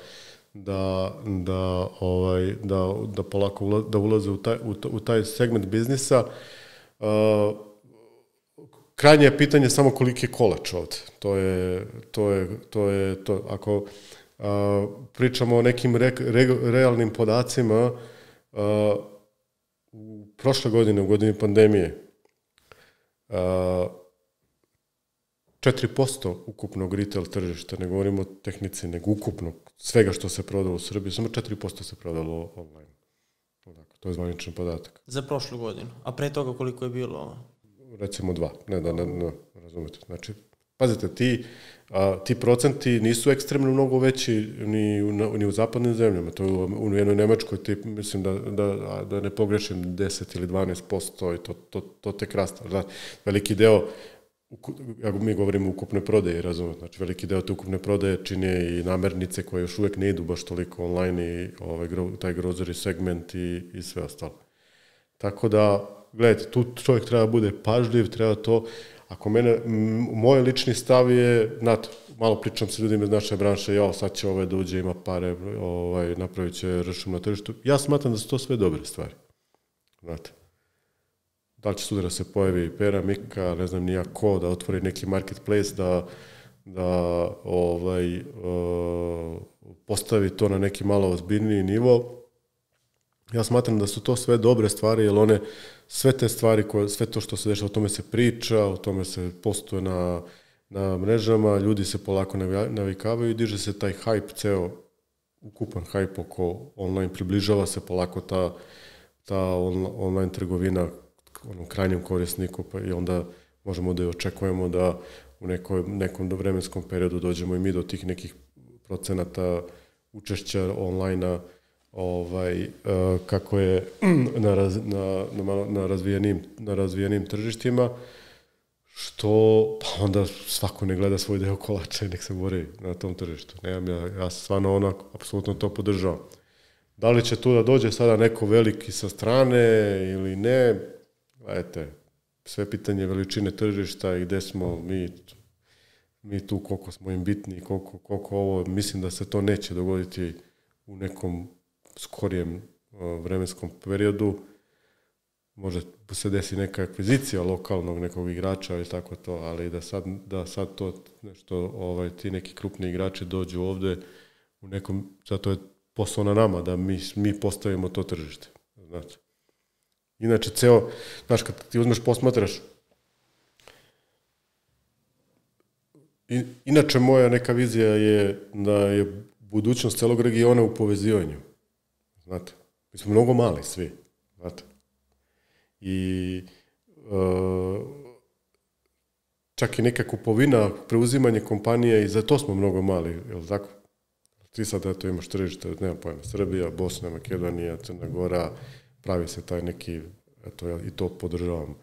polako da ulaze u taj segment biznisa. Krajnje je pitanje samo koliki je kolač ovde. To je to. Ako pričamo o nekim realnim podacima, u prošle godine, u godini pandemije, 4% ukupnog retail tržišta, ne govorimo o tehnici, nego ukupno svega što se prodalo u Srbiji, samo 4% se prodalo online. To je zvaničan podatak. Za prošlu godinu. A pre toga koliko je bilo? Recimo 2. Ne, razumete. Znači, pazite, ti procenti nisu ekstremno mnogo veći ni u zapadnim zemljama. To je u jednoj Nemačkoj, mislim da ne pogrešim 10 ili 12% i to tek rasta. Veliki deo, ako mi govorimo o ukupnoj prodaji, razumete, znači veliki deo te ukupne prodaje čine i namernice koje još uvek ne idu baš toliko online i taj grocery segment i sve ostalo. Tako da, gledajte, tu čovjek treba bude pažljiv, treba to, ako moj lični stav je, znate, malo pričam sa ljudima iz naše branše, sad će da uđe, ima pare, napravit će rešom na tržištu. Ja smatram da su to sve dobre stvari, znate. Da li će sutra se pojavi Pera, Mika, ne znam nija ko, da otvori neki marketplace, da postavi to na neki malo ozbiljniji nivo. Ja smatram da su to sve dobre stvari, jer sve te stvari, sve to što se dešava, o tome se priča, o tome se postuje na mrežama, ljudi se polako navikavaju i diže se taj hype, ceo ukupan hype oko online, približava se polako ta online trgovina onom krajnjem korisniku, pa i onda možemo da je očekujemo da u nekom vremenskom periodu dođemo i mi do tih nekih procenata učešća online-a kako je na razvijenim tržištima, što pa onda svako ne gleda svoj deo kolača i nek se bori na tom tržištu. Ja stvarno apsolutno to podržavam. Da li će tu da dođe sada neko veliki sa strane ili ne, gledajte, sve pitanje veličine tržišta i gde smo mi tu, koliko smo im bitni, koliko ovo, mislim da se to neće dogoditi u nekom skorijem vremenskom periodu. Može se desi neka akvizicija lokalnog nekog igrača ili tako to, ali da sad to nešto, ti neki krupni igrači dođu ovde u nekom, zato je posao na nama da mi postavimo to tržište. Znači, inače, znaš, kad ti uzmeš, posmatraš, inače moja neka vizija je da je budućnost celog regiona u povezivanju. Znate, mi smo mnogo mali svi, znate. I čak i neka kupovina, preuzimanje kompanije, i za to smo mnogo mali, je li tako? Ti sad, eto, imaš tržište, nema pojma, Srbija, Bosna, Makedonija, Crna Gora, pravi se taj neki, eto, i to podržavam,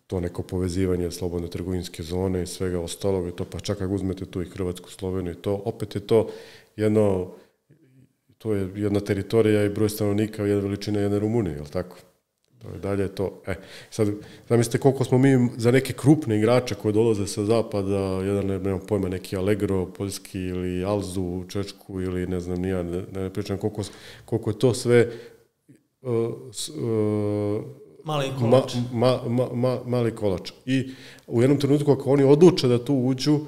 to neko povezivanje slobodne trgovinske zone i svega ostalog, i to, pa čak ako uzmete tu i Hrvatsku, Sloveniju i to, opet je to to je jedna teritorija i broj stanovnika, jedna veličina jedne Rumunije, je li tako? Dalje je to. Sad, zamislite koliko smo mi za neke krupne igrače koje dolaze sa zapada, jedan, nemam pojma, neki Allegro, poljski, ili Alzu, Čečku, ili ne znam, ne pričam koliko je to sve mali kolač. Mali kolač. I u jednom trenutku, ako oni odluče da tu uđu,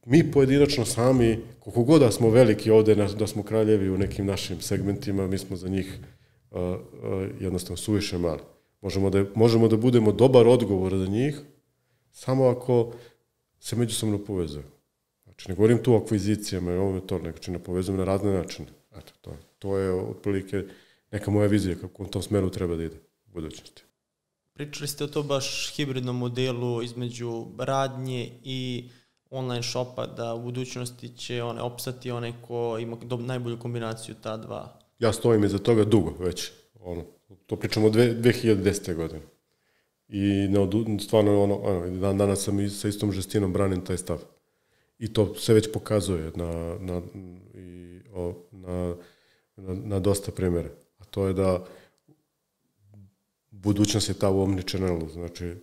mi pojedinačno sami, koliko god da smo veliki ovde, da smo kraljevi u nekim našim segmentima, mi smo za njih jednostavno suviše mali. Možemo da budemo dobar odgovor za njih, samo ako se međusobno povezuju. Znači, ne govorim tu o akvizicijama i ovome to, nego ne povezujem na razne načine. Eto, to je otprilike neka moja vizija kako u tom smeru treba da ide u budućnosti. Pričali ste o to baš hibridnom modelu između radnje i online shopa, da u budućnosti će opstati onaj ko ima najbolju kombinaciju ta dva. Ja stojim iza toga dugo već. To pričamo od 2010. godine. i stvarno dan danas sam sa istom žestinom branim taj stav. I to se već pokazuje na dosta primjera. A to je da budućnost je ta u omnichannelu, znači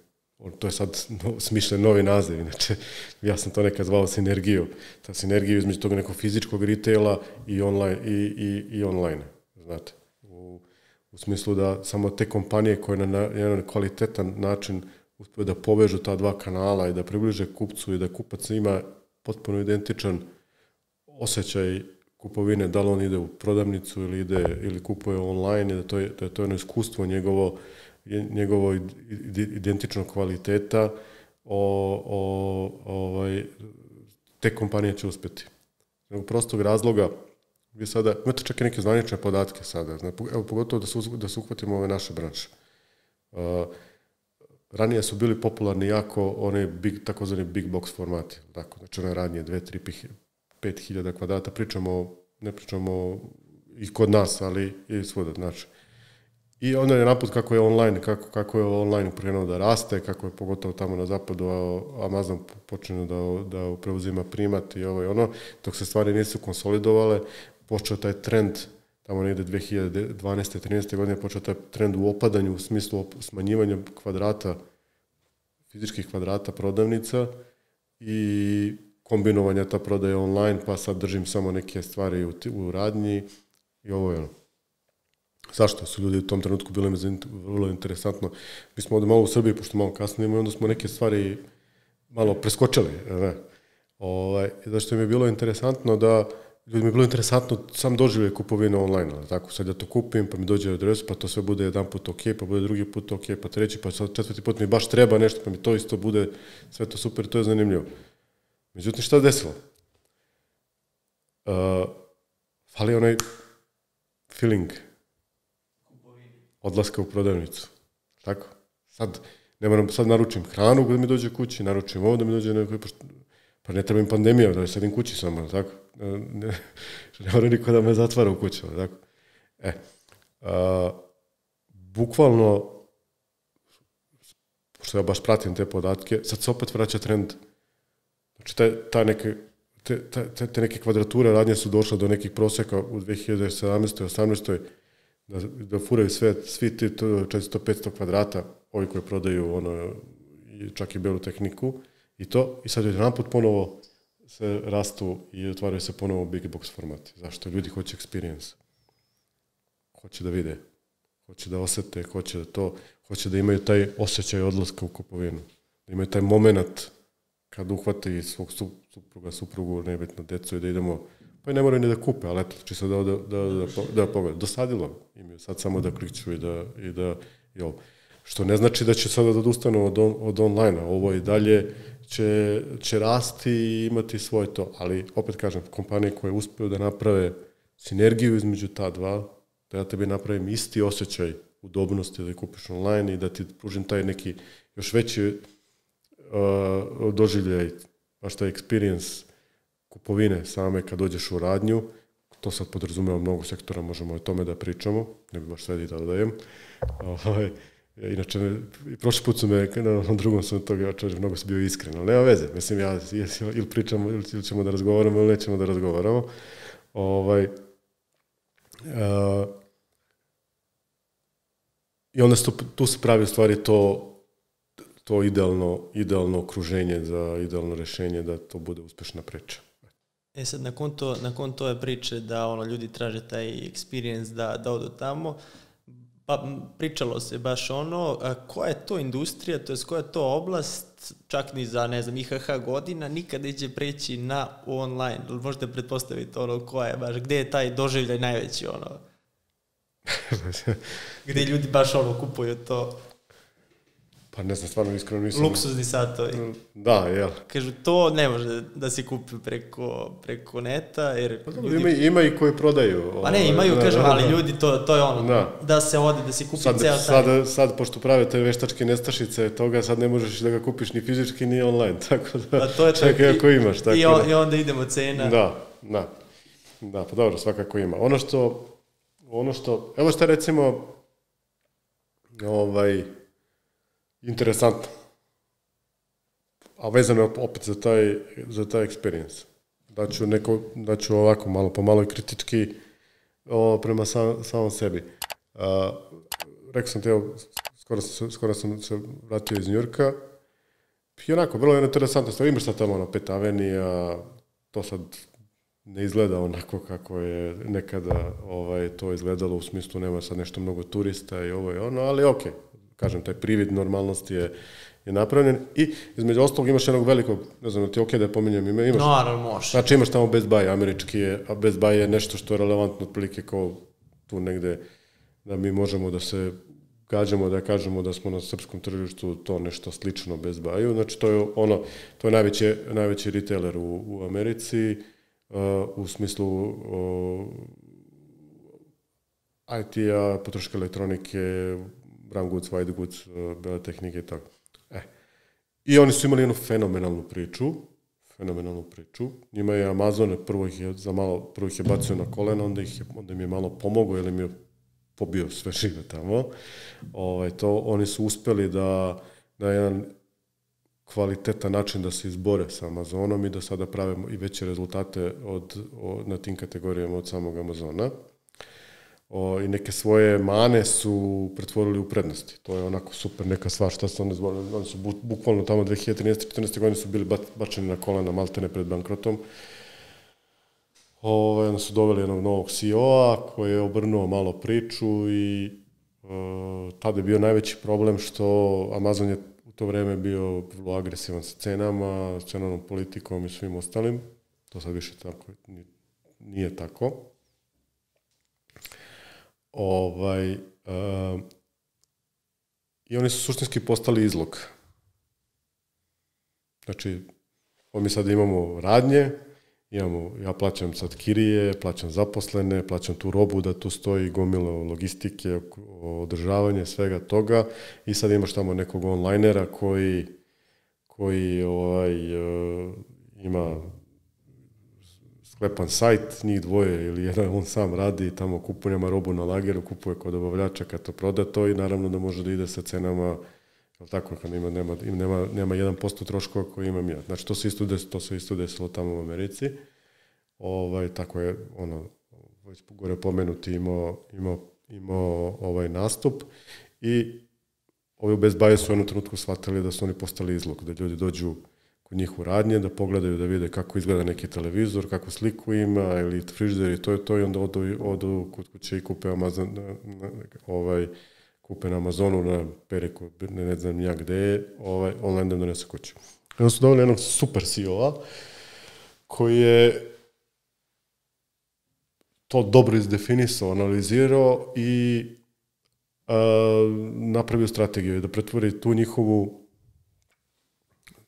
to je sad smišljen novi naziv, inače ja sam to nekad zvao sinergiju. Ta sinergija između tog nekog fizičkog retaila i online, znate. U smislu da samo te kompanije koje na jedan kvalitetan način uspiju da povežu ta dva kanala i da približe kupcu i da kupac ima potpuno identičan osjećaj kupovine, da li on ide u prodavnicu ili kupuje online, i da je to jedno iskustvo njegovo identično kvaliteta, te kompanije će uspjeti. Nego prostog razloga, vi sada imate čak i neke zvanične podatke sada, evo, pogotovo da se uhvatimo ove naše branše. Ranije su bili popularni jako one takozvani big box formati, tako, znači one radnje 2, 3, 5.000 kvadrata, ne pričamo i kod nas, ali i svuda, znači. I onda je naput kako je online krenuo da raste, kako je pogotovo tamo na zapadu Amazon počeo da preuzima primat i ovo i ono, dok se stvari nisu konsolidovale, počeo taj trend, tamo negdje 2012. 13. godine počeo taj trend u opadanju u smislu smanjivanja kvadrata, fizičkih kvadrata prodavnica i kombinovanja ta prodaje online, pa sad držim samo neke stvari u radnji i ovo je ono. Zašto su ljudi u tom trenutku bili vrlo interesantno? Mi smo ovdje malo u Srbiji, pošto malo kasnije, i onda smo neke stvari malo preskočili. Zašto mi je bilo interesantno ljudima je bilo interesantno sam doživljaj kupovine online, tako, sad ja to kupim, pa mi dođe adres, pa to sve bude jedan put ok, pa bude drugi put ok, pa treći, pa sad četvrti put mi baš treba nešto, pa mi to isto bude, sve to super, to je zanimljivo. Međutim, šta se desilo? Fali onaj feeling odlaska u prodavnicu. Tako? Sad naručim hranu da mi dođe kući, naručim ovo da mi dođe neko, pa ne treba im pandemija, da sedim kući samo, tako? Ne mora niko da me zatvara u kući, tako? Bukvalno, što ja baš pratim te podatke, sad se opet vraća trend. Znači, te neke kvadrature radnje su došle do nekih prosjeka u 2017. 18. da furaju svi ti 400-500 kvadrata, ovi koji prodaju čak i belu tehniku i sad je naput ponovo se rastu i otvaraju se ponovo big box formati. Zašto? Ljudi hoće experience. Hoće da vide, hoće da osete, hoće da imaju taj osjećaj odlaska u kupovinu, da imaju taj moment kad uhvate svog suprugu, nebitno djecu i da idemo, pa i ne moraju ni da kupe, ali eto, čisto da pogleda. Dosadilo imaju sad samo da klikću i ovo. Što ne znači da će sada da odustanu od online-a. Ovo i dalje će rasti i imati svoje to. Ali, opet kažem, kompanije koje uspiju da naprave sinergiju između ta dva, da ja tebi napravim isti osjećaj udobnosti da kupiš online i da ti pružim taj neki još veći doživljaj, baš taj experience kupovine same kad dođeš u radnju. To sad podrazumeva mnogo sektora, možemo o tome da pričamo, ne bi baš sve da dodajem. Inače, prošli put su me, na drugom sam toga, mnogo sam bio iskren, ali nema veze. Mislim, ili pričamo, ili ćemo da razgovaramo, ili nećemo da razgovaramo. I onda tu se pravi u stvari to idealno okruženje za idealno rješenje da to bude uspješna priča. Sad, nakon tove priče da ljudi traže taj experience da odu tamo, pa pričalo se baš koja je to industrija, to je koja je to oblast, čak ni za, ne znam, IHH godina, nikada neće preći na online. Možete pretpostaviti koja je baš, gdje je taj doživljaj najveći, gdje ljudi baš kupuju to. Pa ne znam, stvarno iskreno nisam. Luksuzni satovi. Da, jel. Kažu, to ne može da se kupi preko neta, jer... Ljudi... Ima i koji prodaju. Pa ne, imaju, kažem, ali ljudi, to je da se ode, da se kupi ceo taj... Sad, pošto prave te veštačke nestašice toga, sad ne možeš da ga kupiš ni fizički, ni online, tako da... Čekaj ako imaš, tako da... I onda idemo cena. Da, pa dobro, svakako ima. Ono što... Evo šta recimo... interesantno. A vezano je opet za taj experience. Daću ovako malo po malo kritički prema samom sebi. Rekao sam te, skoro sam se vratio iz Njujorka i onako, vrlo je interesantno stvar. Imaš sad tamo na Pet Avenija, to sad ne izgleda onako kako je nekada to izgledalo, u smislu nema sad nešto mnogo turista i ovo i ono, ali ok, kažem, taj privid normalnosti je napravljen i između ostalog imaš jednog velikog, ne znam, ti ok da je pominjem ime, imaš, može. Znači imaš tamo Best Buy, američki je, a Best Buy je nešto što je relevantno otprilike kao tu negde da mi možemo da se gađamo, da kažemo da smo na srpskom tržištu to nešto slično Best Buyu, znači to je najveći retailer u Americi, u smislu IT-a, potrošačke elektronike, brown goods, white goods, bele tehnike i tako. I oni su imali jednu fenomenalnu priču. Njima je Amazon prvo ih je bacio na kolena, onda im je malo pomogao, jer im je pobio sve žive tamo. Oni su uspeli da na jedan kvalitetan način da se izbore sa Amazonom i da sada prave i veće rezultate na tim kategorijama od samog Amazona. I neke svoje mane su pretvorili u prednosti. To je onako super neka stvar šta su oni zborili. Oni su bukvalno tamo 2013-2014. godine su bili bačeni na kolena maltene pred bankrotom. Onda su doveli jednog novog CEO-a koji je obrnuo malo priču i tada je bio najveći problem što Amazon je u to vreme bio vrlo agresivan sa cenama, s cenovnom politikom i svim ostalim. To sad više tako nije tako. I oni su suštinski postali izlog. Znači, mi sad imamo radnje, ja plaćam sad kirije, plaćam zaposlene, plaćam tu robu da tu stoji gomilo logistike, održavanje, svega toga i sad imaš tamo nekog onlinera koji ima sklepan sajt, njih dvoje ili jedan on sam radi i tamo kupuje robu na lageru, kupuje kod dobavljača kad to proda to i naravno da može da ide sa cenama, tako kad nema 1% troškova koji imam ja. Znači to se isto desilo tamo u Americi. Tako je već gore pomenuti imao nastup i ovi u Best Buy su u jednom trenutku shvatili da su oni postali izlog, da ljudi dođu kod njih u radnje, da pogledaju, da vide kako izgleda neki televizor, kakvu sliku ima ili frižider i to i onda odu kod kuće i kupe kupe na Amazonu, na Periku, ne znam nija gde je, online da donese kuću. Onda su doveli jednog super CEO-a koji je to dobro izdefinisao, analizirao i napravio strategiju da pretvori tu njihovu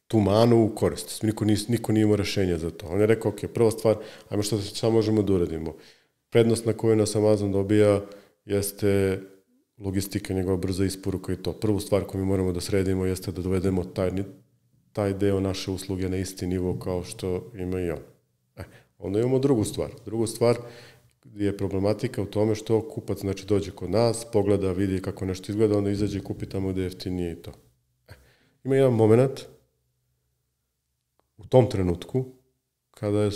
tu manu u korist. Niko nije imao rešenja za to. On je rekao, ok, prva stvar, ajmo šta možemo da uradimo. Prednost na koju nas Amazon dobija jeste logistika, njegova brza isporuka i to. Prvu stvar koju mi moramo da sredimo jeste da dovedemo taj deo naše usluge na isti nivo kao što ima i on. Onda imamo drugu stvar. Drugu stvar je problematika u tome što kupac znači dođe kod nas, pogleda, vidi kako nešto izgleda, onda izađe i kupi tamo gde jeftinije i to. Ima jedan moment u tom trenutku, kada je,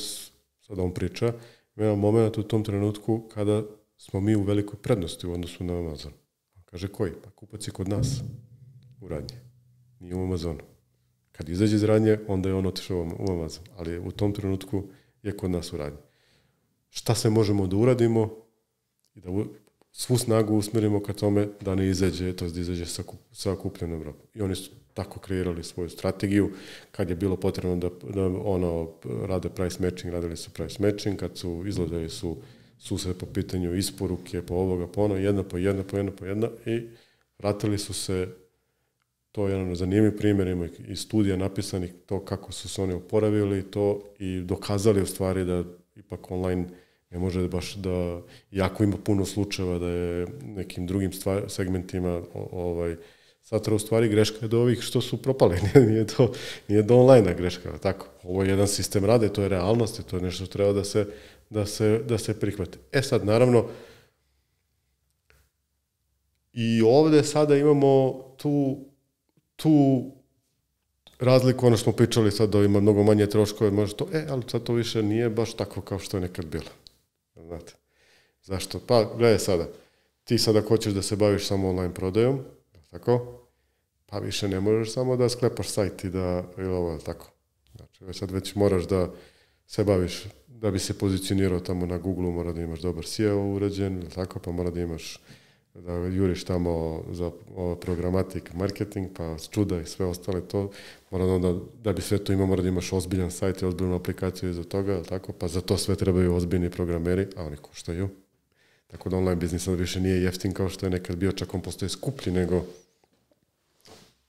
sada on priča, ima jedan moment u tom trenutku kada smo mi u velikoj prednosti u odnosu na Amazon. Kaže, koji? Pa kupac je kod nas u radnje, nije u Amazonu. Kad izađe iz radnje, onda je on otišao u Amazon, ali u tom trenutku je kod nas u radnje. Šta se možemo da uradimo i da svu snagu usmerimo ka tome da ne izađe, to da izađe sa kupljenom robom. I oni su tako kreirali svoju strategiju. Kad je bilo potrebno da rade price matching, radili su price matching, kad su izgledali su se po pitanju isporuke, po ovoga, po ono, jedna po jedna i vratili su se, to je jedan zanimljiv primjer, ima i studija napisanih to kako su se oni oporavili to i dokazali u stvari da ipak online ne može baš da, jako ima puno slučajeva da je nekim drugim segmentima satra u stvari greška je do ovih što su propali, nije do online-a greška, tako. Ovo je jedan sistem rade, to je realnost i to je nešto što treba da se prihvati. Sad, naravno, i ovde sada imamo tu razliku, ono što smo pričali sad, da ima mnogo manje troškove, može to, ali sad to više nije baš tako kao što je nekad bilo. Znate. Zašto? Pa, gledaj sada, ti sada hoćeš da se baviš samo online prodajom, tako? Pa više ne možeš samo da sklepaš sajt i da, ili ovo, tako. Znači, sad već moraš da se baviš, da bi se pozicionirao tamo na Google-u, mora da imaš dobar SEO uređen, tako, pa mora da imaš, da juriš tamo za programatik, marketing, pa čuda i sve ostale to, mora onda, da bi sve to imao, mora da imaš ozbiljan sajt i ozbiljnu aplikaciju iza toga, tako, pa za to sve trebaju ozbiljni programeri, a oni koštaju. Tako da online biznis više nije jeftin kao što je nekad bio, čak on postaje skuplji nego,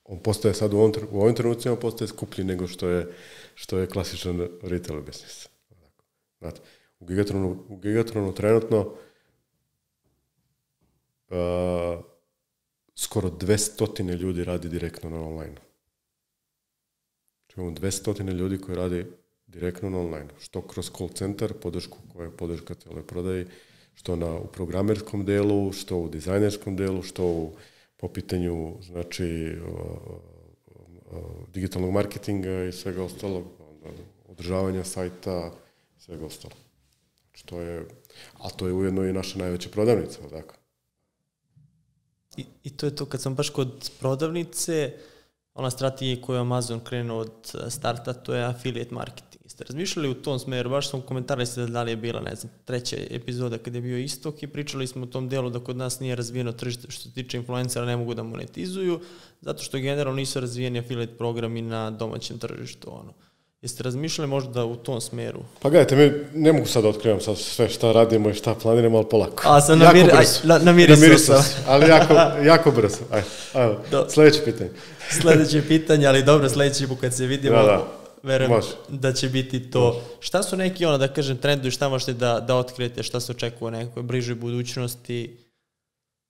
on postaje sad u ovim trenucima, on postaje skuplji nego što je klasičan retail biznis. Znate, u Gigatronu trenutno skoro 200 ljudi radi direktno na online. Imamo 200 ljudi koji radi direktno na online. Što kroz call center, podršku koja je podrška cijeloj prodaji, što u programerskom delu, što u dizajnerskom delu, što po pitanju, znači, digitalnog marketinga i svega ostalog, održavanja sajta, svega ostalog. Znači, a to je ujedno i naša najveća prodavnica, dakle. I to je to, kad sam baš kod prodavnice, ona strategija koju Amazon krenuo od starta, to je affiliate marketing. Jeste razmišljali u tom smeru? Baš sam komentarisali da li je bila, ne znam, 3. epizoda kad je bio Istok i pričali smo o tom delu da kod nas nije razvijeno tržište što se tiče influencera, ne mogu da monetizuju, zato što generalno nisu razvijeni affiliate programi na domaćem tržištu. Jeste razmišljali možda u tom smeru? Pa gledajte, mi ne mogu sad da otkrivam sad sve šta radimo i šta planiramo, ali polako. A sam namirisao sam. Ali jako brzo. Ajde, sljedeće pitanje. Sljedeće pitanje, ali dobro, sljedeći put kad se vidimo, verujem da će biti to. Može. Šta su neki, da kažem, trendovi, šta možete da otkrijete, šta se očekuje u nekoj bližoj budućnosti,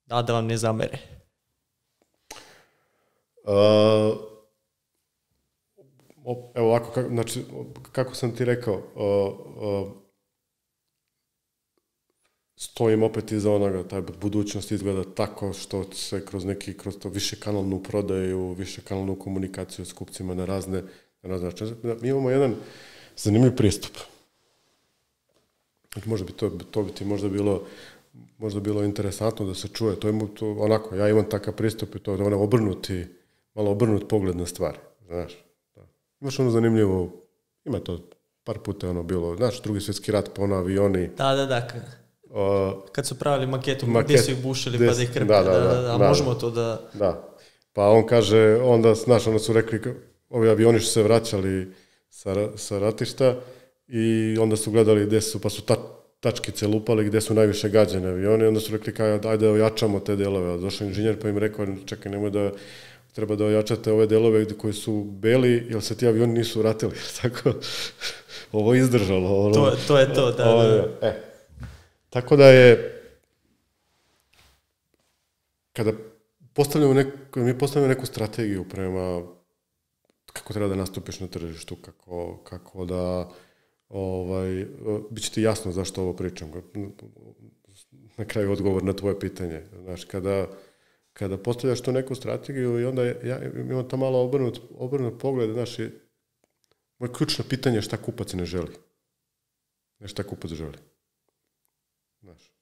da vam ne zamere? Evo ovako, znači, kako sam ti rekao, stojim opet iza onoga, ta budućnost izgleda tako što se kroz to više kanalnu prodaju, više kanalnu komunikaciju s kupcima na razne načine. Mi imamo jedan zanimljiv pristup. Možda bi to bi ti možda bilo interesantno da se čuje. To onako, ja imam takav pristup i to je malo obrnut pogled na stvari, znaš. Imaš zanimljivo, ima to par puta bilo, znaš, Drugi svjetski rat, avioni. Da. Kad su pravili maketu, gdje su ih bušili pa da ih krpe. Da, možemo to da... Da, pa on kaže, onda su rekli, ovi avioni su se vraćali sa ratišta i onda su gledali gdje su, pa su tačkice lupali gdje su najviše gađane avioni, onda su rekli, ajde ojačamo te delove. Došao inženjer pa im rekao, čekaj, nemoj da... Treba da ojačate ove delove koji su beli, jer se ti avioni nisu vratili. Tako, ovo je izdržalo. To je to, da. Tako da je, kada mi postavljamo neku strategiju prema kako treba da nastupiš na tržištu, kako da, bit će ti jasno zašto ovo pričam. Na kraju odgovor na tvoje pitanje. Znaš, kada postavljaš tu neku strategiju i onda ja imam to malo obrnut pogled, znaš, moje ključno pitanje je šta kupac ne želi. Ne šta kupac želi. Znaš,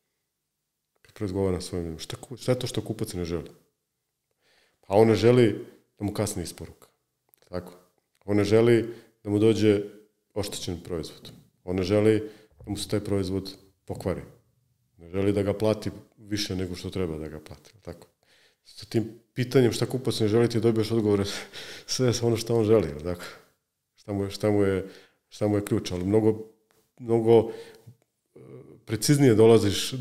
kad razgovara s svojim, šta je to što kupac ne želi? Pa on ne želi da mu kasni isporuka. Tako. On ne želi da mu dođe oštećen proizvod. On ne želi da mu se taj proizvod pokvari. Ne želi da ga plati više nego što treba da ga plati. Tako. Sa tim pitanjem šta kupac ne želi ti dobiješ odgovore sve ono što on želi. Tako. Šta mu je ključ, ali mnogo preciznije dolaziš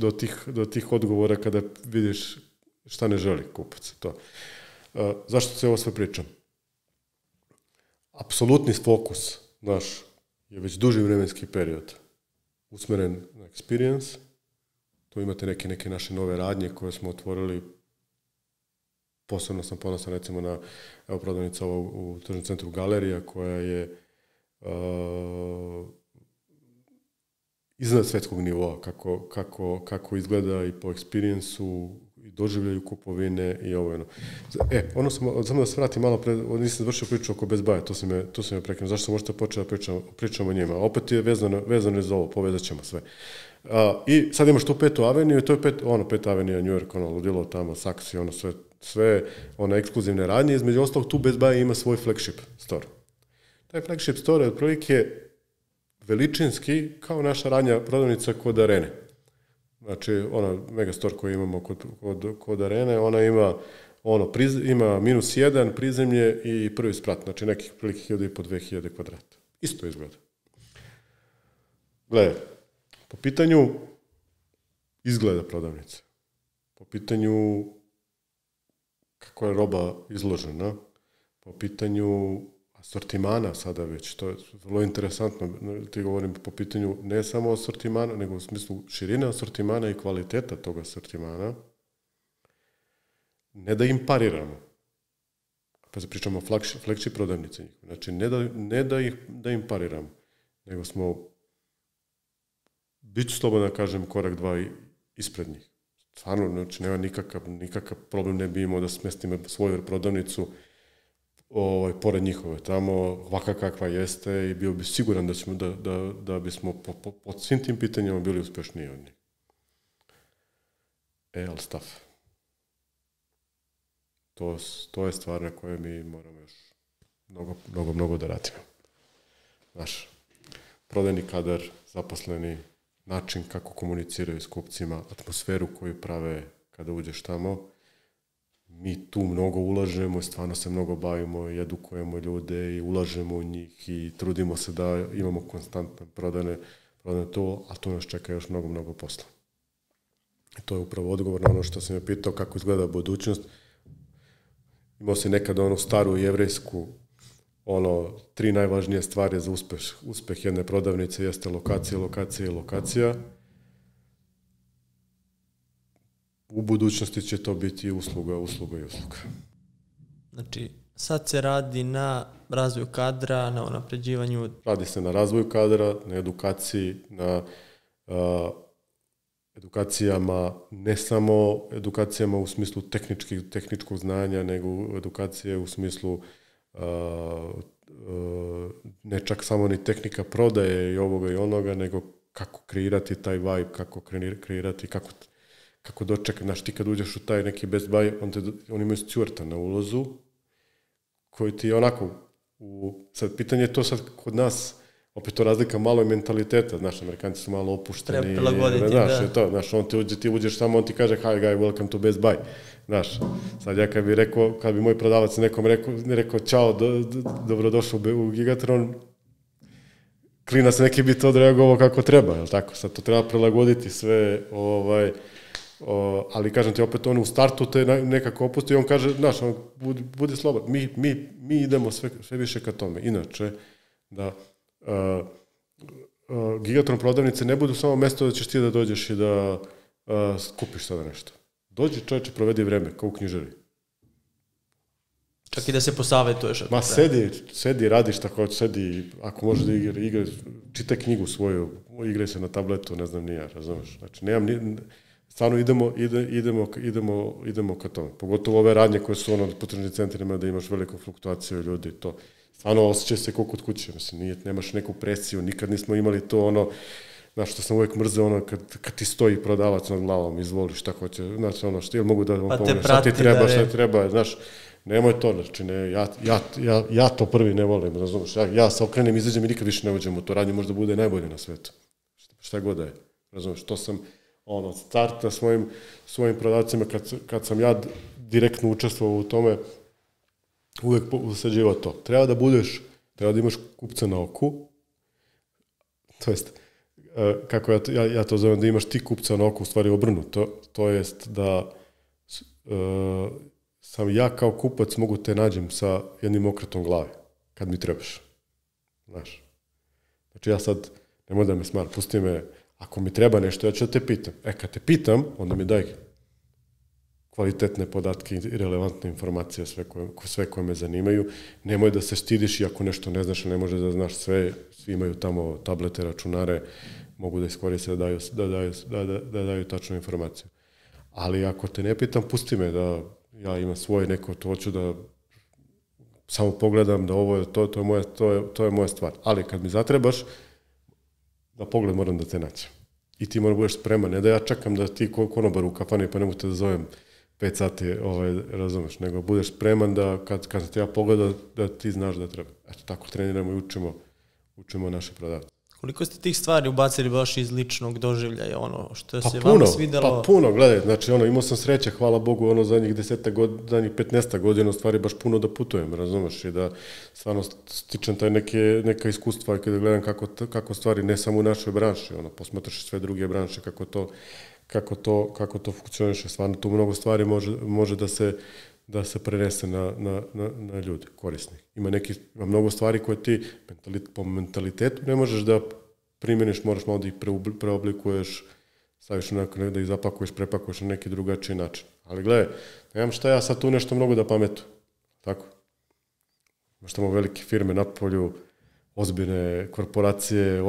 do tih odgovora kada vidiš šta ne želi kupac. To. Zašto se ovo sve pričam? Apsolutni fokus naš je već duži vremenski period usmeren na experience. Tu imate neke naše nove radnje koje smo otvorili. Posebno sam ponosan recimo na prodavnica u tržnom centru Galerija koja je iznad svjetskog nivoa kako izgleda i po experience-u i doživljaju kupovine i ovo ono. Samo da se vratim malo pred, nisam završio priču oko Best Buy, to se me prekinuo. Zašto sam možda počeo da pričamo o njima? Opet je vezano za ovo, povezat ćemo sve. I sad imaš tu Petu aveniju i to je Peta avenija, New York, ludilo tamo, Saksi, sve ekskluzivne radnje. Između ostalog, tu Best Buy ima svoj flagship store. Taj flagship store je otprilike veličinski kao naša radnja prodavnica kod Arene. Znači, megastore koju imamo kod Arene, ona ima -1, prizemlje i prvi sprat, znači nekih prilike 1.500-2.000 kvadrata. Isto izgleda. Gledaj, po pitanju izgleda prodavnice, po pitanju kako je roba izložena, po pitanju asortimana sada već, to je vrlo interesantno, ti govorim po pitanju ne samo asortimana, nego u smislu širine asortimana i kvaliteta tog asortimana, ne da im pariramo, pa se pričamo o flagship prodavnice, znači ne da im pariramo, nego smo, bit ću slobodno da kažem, korak 2 ispred njih. Stvarno, znači nema nikakav problem ne bi imao da smestimo svoju prodavnicu pored njihove, tamo ovakva kakva jeste i bio bi siguran da bismo po svim tim pitanjima bili uspešniji od njih. Ali stav. To je stvar na kojoj mi moramo još mnogo da radimo. Naš prodajni kadar, zaposleni, način kako komuniciraju s kupcima, atmosferu koju prave kada uđeš tamo. Mi tu mnogo ulažemo, stvarno se mnogo bavimo i edukujemo ljude i ulažemo u njih i trudimo se da imamo konstantno prodane to, a to nas čeka još mnogo posla. I to je upravo odgovor na ono što sam je pitao kako izgleda budućnost. Imao se nekada onu staru jevrejsku 3 najvažnije stvari za uspeh jedne prodavnice jeste lokacija. U budućnosti će to biti usluga. Znači, sad se radi na razvoju kadra, na unapređivanju... Radi se na razvoju kadra, na edukaciji, na edukacijama, ne samo edukacijama u smislu tehničkog znanja, nego edukacije u smislu ne čak samo ni tehnika prodaje i ovoga i onoga, nego kako kreirati taj vibe, kako kreirati, kako dočekati. Znaš, ti kad uđeš u taj neki Best Buy, oni imaju stjuarta na ulazu, koji ti je onako, sad pitanje je to sad kod nas, opet to razlika malo je mentaliteta, znaš, Amerikanci su malo opušteni. Treba prilagoditi, znaš, ti uđeš tamo, on ti kaže, hi guy, welcome to Best Buy. Znaš, sad ja kad bi moj prodavac nekom rekao, čao, dobrodošao u Gigatron, klinac neki bi to odreagovao kako treba, jel tako? Sad to treba prilagoditi sve, ali kažem ti opet, on u startu te nekako opusti i on kaže, znaš, budi slobodan, mi idemo sve više ka tome. Inače, da Gigatron prodavnice ne budu samo mesto da ćeš ti da dođeš i da kupiš sada nešto. Dođi čovječe, provedi vreme, kao u knjižari. Čak i da se posavetuješ. Ma sedi, radiš tako, sedi, ako možeš da igra, čitaj knjigu svoju, igraj se na tabletu, ne znam ni ja, razumeš. Znači, stvarno idemo ka tome. Pogotovo ove radnje koje su po tržnim centrima da imaš veliku fluktuaciju ljudi, to stvarno osjećaj se kao kod kuće, mislim, nemaš neku presiju, nikad nismo imali to znaš, što sam uvijek mrzeo, kad ti stoji prodavac nad glavom, izvoli šta hoće, znači, što ili mogu da vam pomogne, šta ti treba, znaš, nemoj to, znači, ja to prvi ne volim, razumiješ, ja se okrenem, izađem i nikad više ne uđem u to radnje, možda bude najbolje na svetu, šta god da je, razumiješ, to sam, start na svojim prodavcima, kad sam ja direktno učestvovao u tome, uvijek usađivao to. Treba da imaš kupca na oku, to jest, kako ja to zovem, da imaš ti kupca na oku, u stvari obrnuto, to jest da sam ja kao kupac mogu te nađem sa jednim okretom glave, kad mi trebaš. Znaš. Znači ja sad, nemoj da me smar, pusti me, ako mi treba nešto, ja ću da te pitam. Kad te pitam, onda mi daj kvalitetne podatke i relevantne informacije, sve koje me zanimaju. Nemoj da se stidiš i ako nešto ne znaš, ne može da znaš sve, svi imaju tamo tablete, računare, mogu da iskoriste da daju tačnu informaciju. Ali ako te ne pitam, pusti me da ja imam svoje neko, to hoću da samo pogledam da ovo je to je moja stvar. Ali kad mi zatrebaš, na pogled moram da te naćem. I ti moram budeš spreman, ne da ja čekam da ti konobar u kafani pa ne mogu te da zovem 5 sati, razumeš, nego budeš spreman da kad te ja pogledam da ti znaš da treba. Eto, tako treniramo i učimo naše prodavce. Koliko ste tih stvari ubacili baš iz ličnog doživljaja, ono što se vama svidelo? Pa puno, gledaj, znači imao sam sreće, hvala Bogu, zadnjih 15 godina u stvari baš puno da putujem, razumeš, i da stvarno stičem neka iskustva i kada gledam kako stvari, ne samo u našoj branši, posmatraš sve druge branše, kako to funkcioniše, stvarno tu mnogo stvari može da se prenese na ljude, korisnih. Ima mnogo stvari koje ti po mentalitetu ne možeš da primjeniš, moraš malo da ih preoblikuješ, staviš onako da ih zapakuješ, prepakuješ na neki drugačiji način. Ali gledaj, nemam šta ja sad tu nešto mnogo da pametu. Tako? Imaš tamo velike firme na polju, ozbiljne korporacije,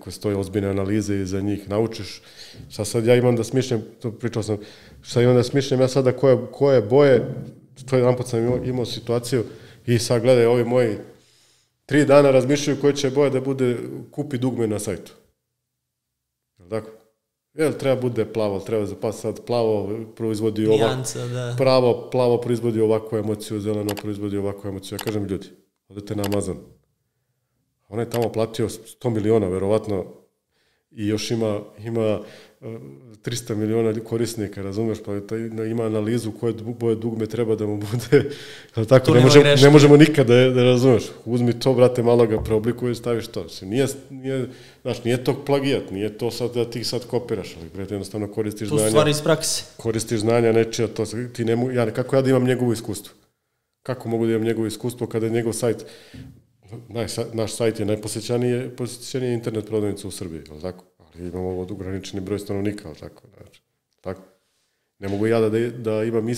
koje stoje ozbiljne analize iza njih, naučiš. Šta sad ja imam da smišljam, to pričao sam, šta imam da smišljam ja sada koje boje, to jedan put sam imao situaciju i sad gledaj, ovi moji 3 dana razmišljaju koje će boje da bude kupi dugme na sajtu. Jel' tako? Jel' treba bude plavo, treba zapasiti sad plavo, proizvodi ovako, plavo proizvodi ovakvu emociju, zeleno proizvodi ovakvu emociju. Ja kažem ljudi, odete na Amazon. On je tamo platio 100 miliona, verovatno, i još ima 300 miliona korisnika, razumeš, pa ima analizu koje boje dugme treba da mu bude, tako, ne možemo nikada da razumeš. Uzmi to, brate, malo ga preoblikuješ, staviš to. Nije to plagijat, nije to sad da ti sad kopiraš, ali brate, jednostavno koristiš znanja. To stvari iz prakse. Koristiš znanja nečija, kako ja da imam njegovo iskustvo? Kako mogu da imam njegovo iskustvo kada je njegov sajt, naš sajt je najposjećenije internet prodavnica u Srbiji, ali tako? Ali imamo ograničeni broj stanovnika, ali tako? Znači, tako? Ne mogu ja da imam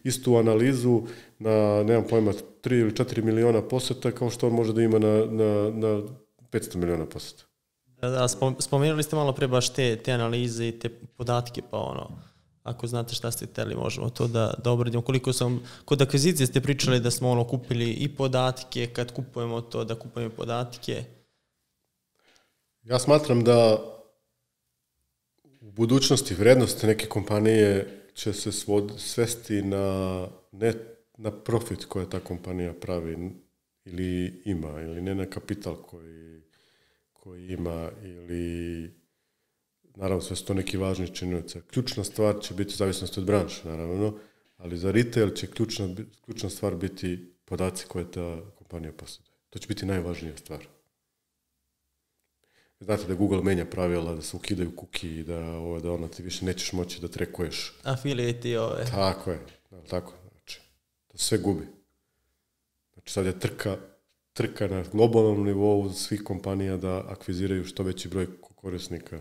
istu analizu na, nemam pojma, 3 ili 4 miliona poseta kao što on može da ima na 500 miliona poseta. Da, spomenuli ste malo pre baš te analize i te podatke, pa ako znate šta ste hteli, možemo to da obradimo. Kod akvizicije ste pričali da smo kupili i podatke, kad kupujemo to, da kupujemo podatke. Ja smatram da u budućnosti vrednost neke kompanije će se svesti ne na profit koje ta kompanija pravi ili ima, ili ne na kapital koji ima, ili naravno sve su to neki važni činioci. Ključna stvar će biti zavisnost od branše, naravno, ali za retail će ključna stvar biti podaci koje ta kompanija posjeduje. To će biti najvažnija stvar. Znate da Google menja pravila, da se ukidaju cookie i da ti više nećeš moći da trekuješ. Affiliate i ove. Tako je. Tako. Znači, to sve gubi. Znači, sad je trka na globalnom nivou svih kompanija da akviziraju što veći broj korisnika.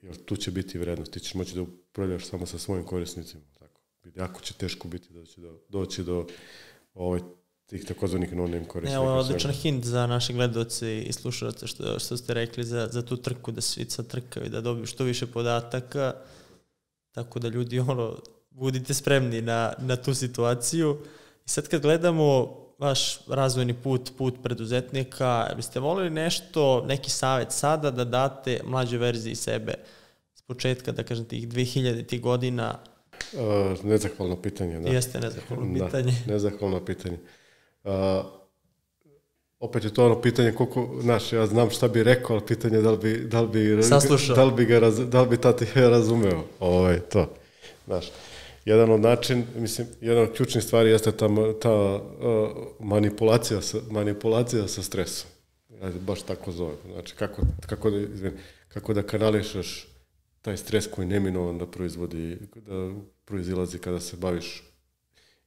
Jer tu će biti vrednost. Ti ćeš moći da upravljaš samo sa svojim korisnicima. Tako. Jako će teško biti doći do tih takozvanih no-name korisnika. Ovo je odličan hint za naše gledaoce i slušalce što ste rekli za tu trku, da svi sad trkaju, da dobiju što više podataka, tako da ljudi budite spremni na tu situaciju. I sad kad gledamo vaš razvojni put preduzetnika, biste volili neki savjet sada da date mlađoj verziji sebe s početka, da kažem, tih 2000 godina? Nezahvalno pitanje, da. Jeste nezahvalno pitanje. Da, nezahvalno pitanje. Opet je to pitanje koliko, ja znam šta bi rekao, ali pitanje da li bi tati razumeo to. Znaš, jedan od ključnih stvari jeste ta manipulacija sa stresom. Ja baš tako zovem. Znači, kako da kanališaš taj stres koji neminovan da proizilazi kada se baviš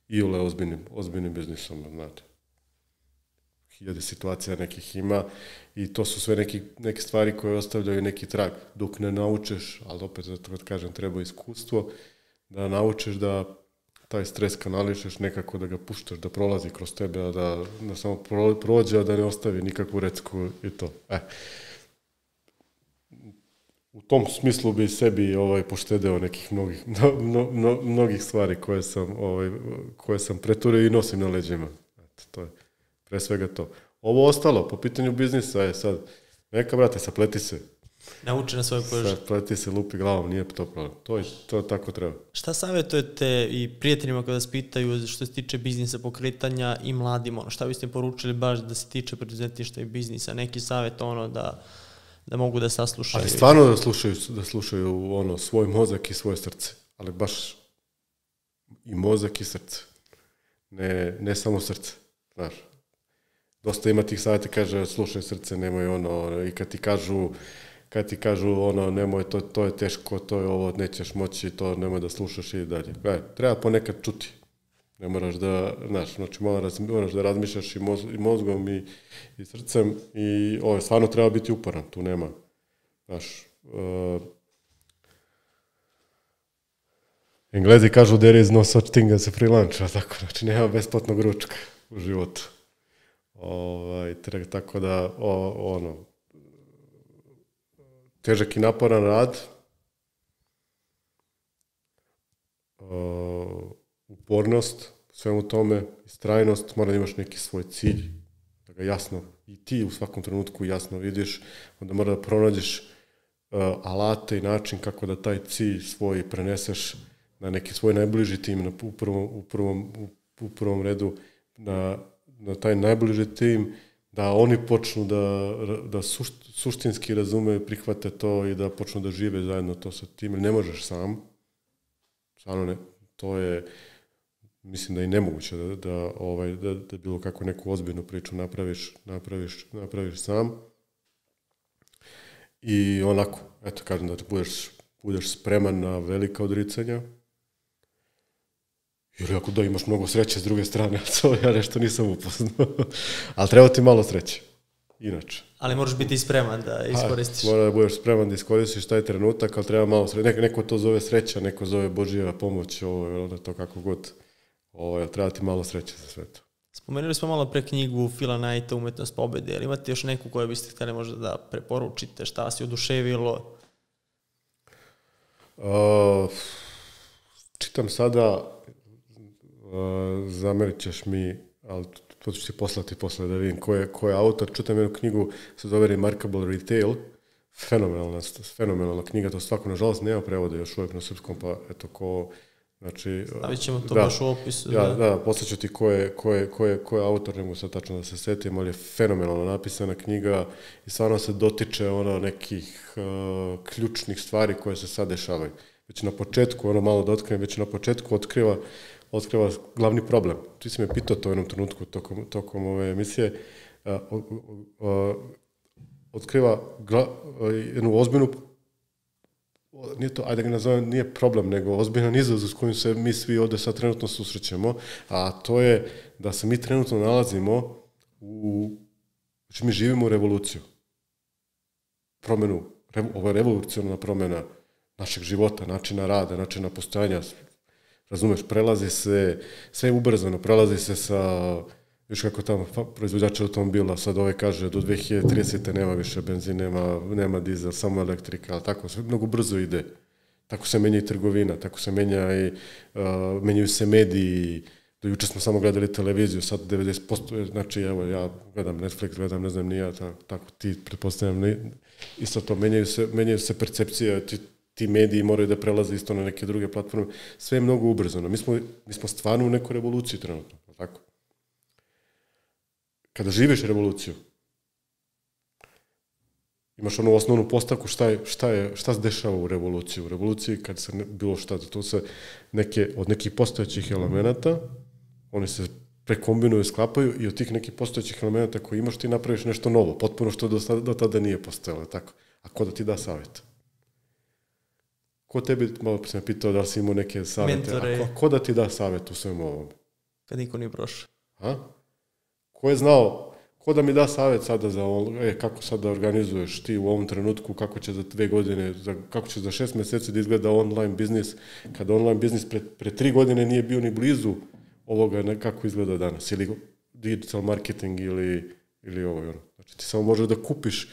iole ozbiljnim biznisom, znate. 1000 situacija nekih ima i to su sve neke stvari koje ostavljaju neki trag. Dok ne naučiš, ali opet zato kažem, treba iskustvo, da naučiš da taj stres kanališeš nekako, da ga puštaš, da prolazi kroz tebe, a da samo prođe, a da ne ostavi nikakvu recku i to. u tom smislu bi sebi poštedeo nekih mnogih stvari koje sam preturio i nosim na leđima. To je pre svega to. Ovo ostalo, po pitanju biznisa je sad, neka brate, sapleti se. Nauči na svojoj koži. Sapleti se, lupi glavom, nije to problem. To tako treba. Šta savjetujete i prijateljima kada vas pitaju što se tiče biznisa pokretanja i mladima? Šta biste poručili baš da se tiče preduzetništva i biznisa? Neki savjet da mogu da saslušaju. Ali stvarno da slušaju svoj mozak i svoje srce. Ali baš i mozak i srce. Ne samo srce. Znaš. Dosta ima tih savjeta, kaže slušaj srce, nemoj i kad ti kažu nemoj, to je teško, to je ovo, nećeš moći, to nemoj da slušaš i dalje. Treba ponekad čuti. Ne moraš da, znači moraš da razmišljaš i mozgom i srcem i stvarno treba biti uporan, tu nema, Englezi kažu there is no such thing as a free lunch, tako, znači nema besplatnog ručka u životu. Tako da, težak i naporan rad, upornost, svemu tome, istrajnost, mora da imaš neki svoj cilj, da ga jasno i ti u svakom trenutku jasno vidiš, onda mora da pronađeš alate i način kako da taj cilj svoj preneseš na neki svoj najbliži tim, u prvom redu na taj najbliži tim, da oni počnu da suštinski razumeju, prihvate to i da počnu da žive zajedno to sa tim, jer ne možeš sam, stvarno ne, to je, mislim da je nemoguće da bilo kako neku ozbiljnu priču napraviš sam. I onako, eto kažem da budeš spreman na velika odricanja. Ili ako da imaš mnogo sreće s druge strane, to ja nešto nisam upoznao. Ali treba ti malo sreće. Inače. Ali moraš biti spreman da iskoristiš. Mora da budeš spreman da iskoristiš taj trenutak, ali treba malo sreće. Neko to zove sreća, neko zove Božija pomoć, to kako god. Treba ti malo sreće za sve to. Spomenuli smo malo pre knjigu Phila Knighta, Umetnost pobede. Ali imate još neku koju biste htjeli možda da preporučite? Šta vas je oduševilo? Čitam sada, zamerit ćeš mi, ali to ću ti poslati posle da vidim ko je autor. Čitam jednu knjigu, se zove Remarkable Retail, fenomenalna knjiga, to svako, nažalost, nema prevoda još uvijek na srpskom, pa eto ko, znači... Stavit ćemo to baš u opisu. Da, poslaću ti ko je autor, ne mogu sad tačno da se setim, ali je fenomenalno napisana knjiga i stvarno se dotiče nekih ključnih stvari koje se sad dešavaju. Već na početku, malo da otkrijem, već na početku otkriva glavni problem. Ti si me pitao to u jednom trenutku tokom ove emisije. Otkriva jednu ozbiljnu, nije to, ajde ga nazovem, nije problem, nego ozbiljan izazov s kojim se mi svi ovde sad trenutno susrećemo, a to je da se mi trenutno nalazimo znači mi živimo u revoluciju. Ovo je revolucionarna promjena našeg života, načina rada, načina postojanja. Razumeš, prelazi se, sve ubrzano, prelazi se sa, još kako tamo proizvođač automobila, sad kaže do 2030. nema više benzin, nema dizel, samo elektrika, ali tako, sve mnogo brzo ide. Tako se menja i trgovina, tako se menjaju se mediji. Do juče smo samo gledali televiziju, sad 90%, znači evo ja gledam Netflix, gledam ne znam ni ja, tako ti pretpostavljam, isto to, menjaju se percepcije, ti mediji moraju da prelaze isto na neke druge platforme, sve je mnogo ubrzano. Mi smo stvarno u nekoj revoluciji trenutno, tako? Kada živiš revoluciju, imaš onu osnovnu postavku šta se dešava u revoluciji. U revoluciji kad se bilo šta, to se od nekih postojećih elemenata, oni se prekombinuju, sklapaju i od tih nekih postojećih elemenata koji imaš ti napraviš nešto novo, potpuno što do tada nije postojalo, tako? A ko da ti da savjet? Ko tebi, malo sam pitao da li si imao neke savjete, a ko da ti da savjet u svemu ovom? Kad niko nije prošao. Ko je znao, ko da mi da savjet sada za kako sad da organizuješ ti u ovom trenutku, kako će za 2 godine, kako će za 6 mjeseci da izgleda online biznis, kada online biznis pre 3 godine nije bio ni blizu ovoga kako izgleda danas, ili digital marketing ili ovo. Znači ti samo možeš da kupiš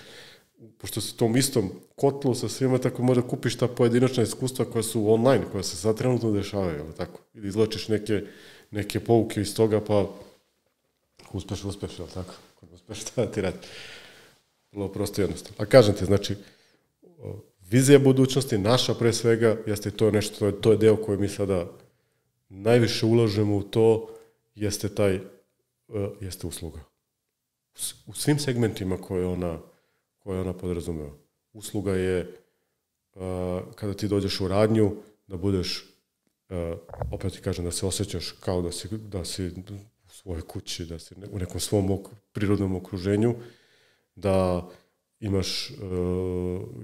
pošto si u tom istom kotlu sa svima, tako možda kupiš ta pojedinačna iskustva koja su online, koja se sad trenutno dešavaju, ali tako? Ili izlačiš neke pouke iz toga, pa uspeš, ali tako? Uspeš, šta da ti radi? Vrlo prosto jednostavno. A kažem ti, znači, vizija budućnosti, naša pre svega, jeste to nešto, to je deo koji mi sada najviše ulažemo u to, jeste usluga. U svim segmentima koje ona podrazumeva. Usluga je kada ti dođeš u radnju, da budeš, opet ti kažem, da se osjećaš kao da si u svojoj kući, da si u nekom svom prirodnom okruženju, da imaš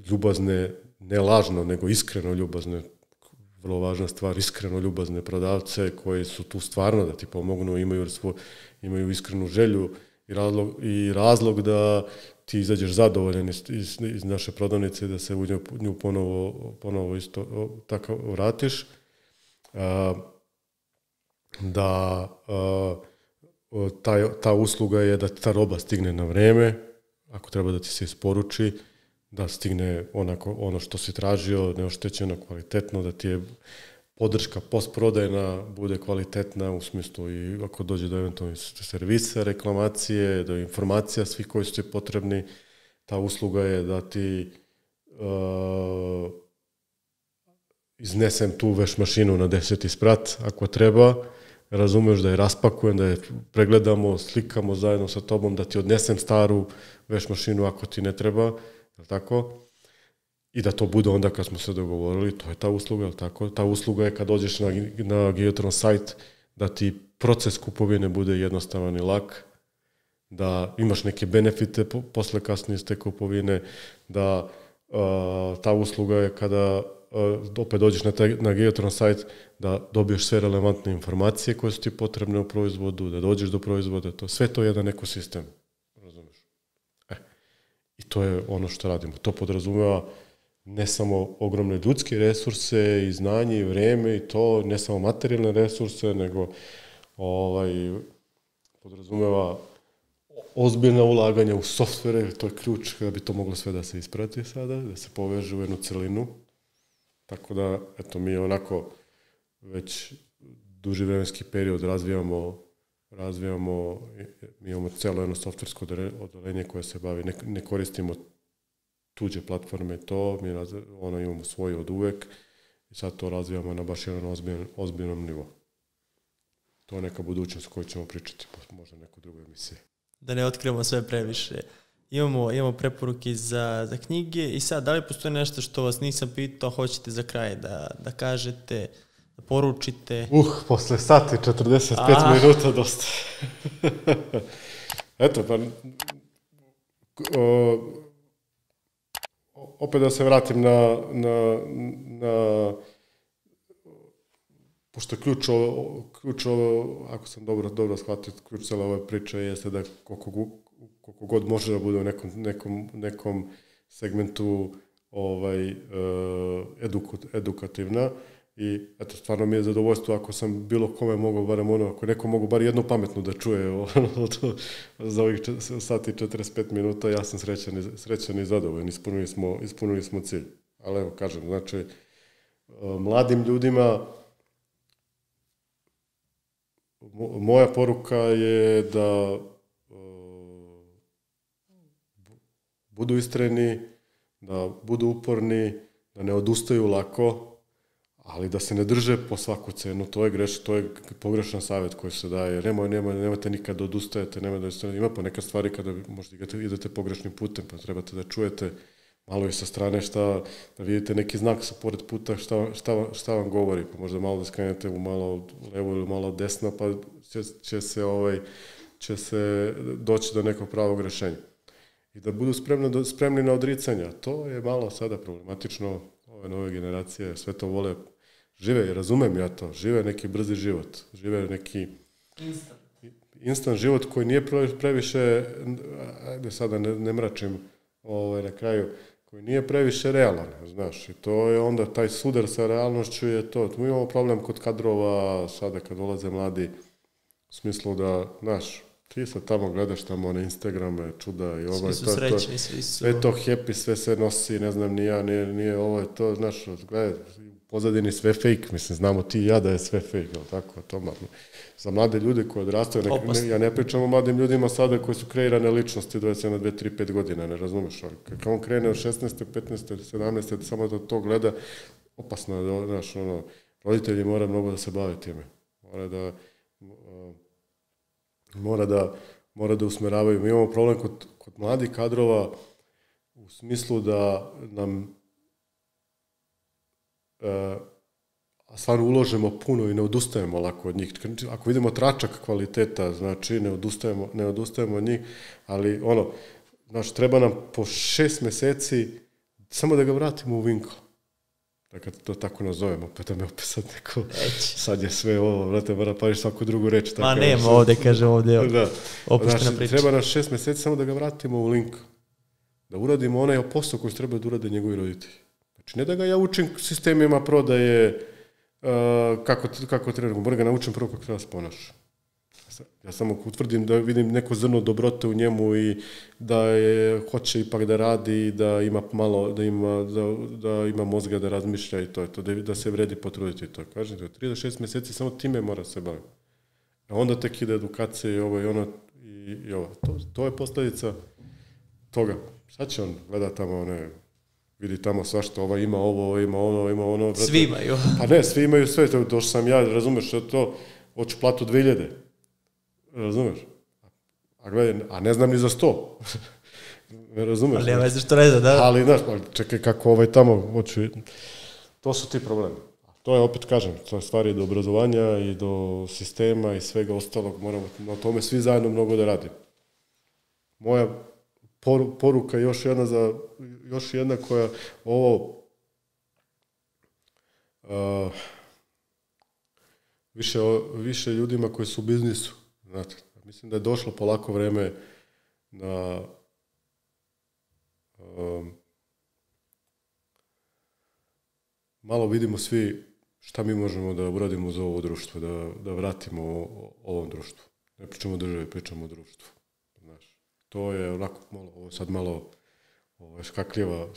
ljubazne, ne lažno, nego iskreno ljubazne, vrlo važna stvar, iskreno ljubazne prodavce koji su tu stvarno da ti pomognu, imaju iskrenu želju i razlog da ti izađeš zadovoljan iz naše prodavnice i da se u nju ponovo isto tako vratiš. Da ta usluga je da ta roba stigne na vreme, ako treba da ti se isporuči, da stigne ono što si tražio, neoštećeno, kvalitetno, da ti je podrška postprodajna bude kvalitetna u smislu i ako dođe do eventualnih servisa, reklamacije, do informacija svih koji su ti potrebni. Ta usluga je da ti iznesem tu veš mašinu na 10. sprat ako treba, razumeš da je raspakujem, da je pregledamo, slikamo zajedno sa tobom, da ti odnesem staru veš mašinu ako ti ne treba, je li tako? I da to bude onda kad smo se dogovorili, to je ta usluga, je li tako? Ta usluga je kad dođeš na Geotron sajt, da ti proces kupovine bude jednostavan i lak, da imaš neke benefite posle kasnije iz te kupovine, da ta usluga je kada opet dođeš na Geotron sajt, da dobiješ sve relevantne informacije koje su ti potrebne u proizvodu, da dođeš do proizvoda, sve to je jedan ekosistem, razumeš? I to je ono što radimo. To podrazumeva ne samo ogromne ljudske resurse i znanje i vreme i to, ne samo materijalne resurse, nego podrazumeva ozbiljna ulaganja u softvere, to je ključ da bi to moglo sve da se isprati sada, da se poveže u jednu celinu. Tako da, eto, mi onako već duži vremenski period razvijamo, mi imamo celo jedno softversko odelenje koje se bavi, ne koristimo tuđe platforme mi imamo svoje od uvek i sad to razvijamo na baš jedan ozbiljnom nivou. To je neka budućnost koju ćemo pričati, možda nekoj drugoj emisiji. Da ne otkrivamo sve previše. Imamo preporuke za knjige i sad, da li postoji nešto što vas nisam pitao, hoćete za kraj da kažete, da poručite? Posle sati 45 minuta dosta. Eto, pa opet da se vratim na pošto ključ ovo, ako sam dobro shvatio, ključ cele ove priče jeste da koliko god može da bude u nekom segmentu edukativna i eto, stvarno mi je zadovoljstvo ako sam bilo kome mogao barem ako neko mogu bar jedno pametno da čuje za ovih sati 45 minuta, ja sam srećan i zadovoljan, ispunili smo cilj. Ali evo, kažem, znači, mladim ljudima moja poruka je da budu istrajni, da budu uporni, da ne odustaju lako, ali da se ne drže po svaku cenu. To je pogrešan savjet koji se daje. Nemojte nikad da odustajete, ima po neka stvari kada možda idete pogrešnim putem, pa trebate da čujete malo i sa strane da vidite neki znak sa pored puta šta vam govori, pa možda malo da skrenete u malo levo ili malo desno, pa će se doći do nekog pravog rešenja. I da budu spremni na odricanja. To je malo sada problematično, ove nove generacije sve to vole, žive, razumem ja to, žive neki brzi život, žive neki instant život koji nije previše, ajde sada ne mračim na kraju, koji nije previše realan, znaš, i to je onda taj sudar sa realnošću je to. Tu imamo problem kod kadrova, sada kad dolaze mladi, u smislu da, znaš, Ti sad tamo gledaš tamo one Instagrame, čuda i ovo. Svi su srećni, svi su... Sve to happy, sve se nosi, ne znam, nije ovo je to, znaš, gledaj, u pozadini sve fake, mislim, znamo ti i ja da je sve fake, ali tako, to za mlade ljude koji odrastaju, ja ne pričam o mladim ljudima sada koji su kreirane ličnosti 21, 2, 3, 5 godina, ne razumeš, ali kad on krene od 16, 15, 17, samo da to gleda, opasno je, znaš, roditelji mora mnogo da se bave time, mora da usmeravaju. Mi imamo problem kod mladih kadrova u smislu da nam stvarno uložimo puno i ne odustajemo lako od njih. Ako vidimo tračak kvaliteta, znači ne odustajemo od njih, ali znači treba nam po 6 meseci samo da ga vratimo u Winkle. Da kad to tako nazovemo, pa da me opet sad neko, sad je sve ovo, vrate, mora pariš svaku drugu reč. Ma nema ovde, kaže ovde, opuštena znači, priča. Treba nam 6 meseci samo da ga vratimo u link, da uradimo onaj posao koji treba da urade njegovi roditelji. Znači, ne da ga ja učim sistemima prodaje, kako treba, mora ga naučim prvo kako treba se ponaša. Ja samo utvrdim da vidim neko zrno dobrote u njemu i da hoće ipak da radi, da ima malo, da ima mozga da razmišlja i to je to, da se vredi potruditi to. Kažem, 3 do 6 meseci samo time mora se baviti. A onda tek ide edukacija i ovo i ono i ovo. To je posljedica toga. Sad će on gleda tamo vidi tamo svašta, ova ima ovo, ima ono. Svi imaju. Pa ne, svi imaju sve, to što sam ja, razumeš, što to, hoću platu 2000. Razumeš? A ne znam ni za 100. Ne razumeš? Ali ja već što ne zna, da? Ali, znaš, čekaj kako tamo hoću... To su ti problemi. To je, opet kažem, to je stvari do obrazovanja i do sistema i svega ostalog. Moramo na tome svi zajedno mnogo da radimo. Moja poruka još jedna koja ovo... više ljudima koji su u biznisu. Znate, mislim da je došlo polako vreme na malo vidimo svi šta mi možemo da uradimo za ovo društvo, da vratimo ovom društvu. Ne pričamo o državi, pričamo o društvu. Znaš, to je onako malo škakljiva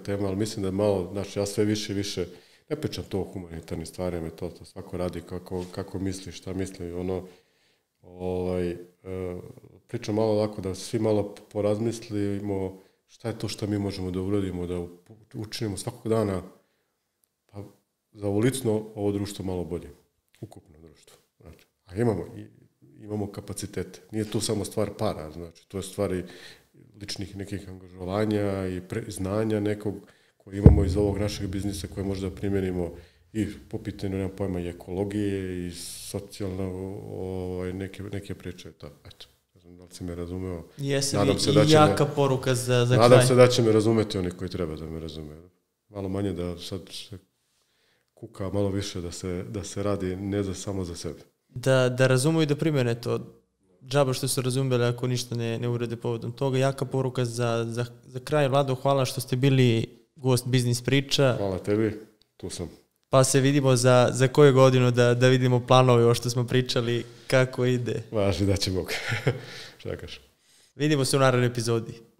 tema, ali mislim da je malo, znači ja sve više ne pričam to o humanitarnim stvarima, to svako radi kako misli, šta misli, pričam malo ovako da svi malo porazmislimo šta je to što mi možemo da uradimo, da učinimo svakog dana za ulicno ovo društvo malo bolje, ukupno društvo. Znači, a imamo kapacitete. Nije to samo stvar para, znači, to je stvari ličnih nekih angažovanja i znanja nekog koje imamo iz ovog našeg biznisa koje možda primjenimo i po pitanju, nemam pojma, i ekologije i socijalno neke priče. Eto, ne znam da li si me razumeo. Jesam i jaka poruka za kraj. Nadam se da će me razumeti oni koji treba da me razume. Malo manje da sad se kuka, malo više da se radi ne samo za sebe. Da razumeju i da primjene to. Džaba što su razumeli ako ništa ne urede povodom toga. Jaka poruka za kraj. Vlado, hvala što ste bili gost Biznis priča. Hvala tebi, tu sam. Pa se vidimo za koju godinu da vidimo planove o što smo pričali, kako ide. Važi da će Bog. Šta kažeš? Vidimo se u narednoj epizodi.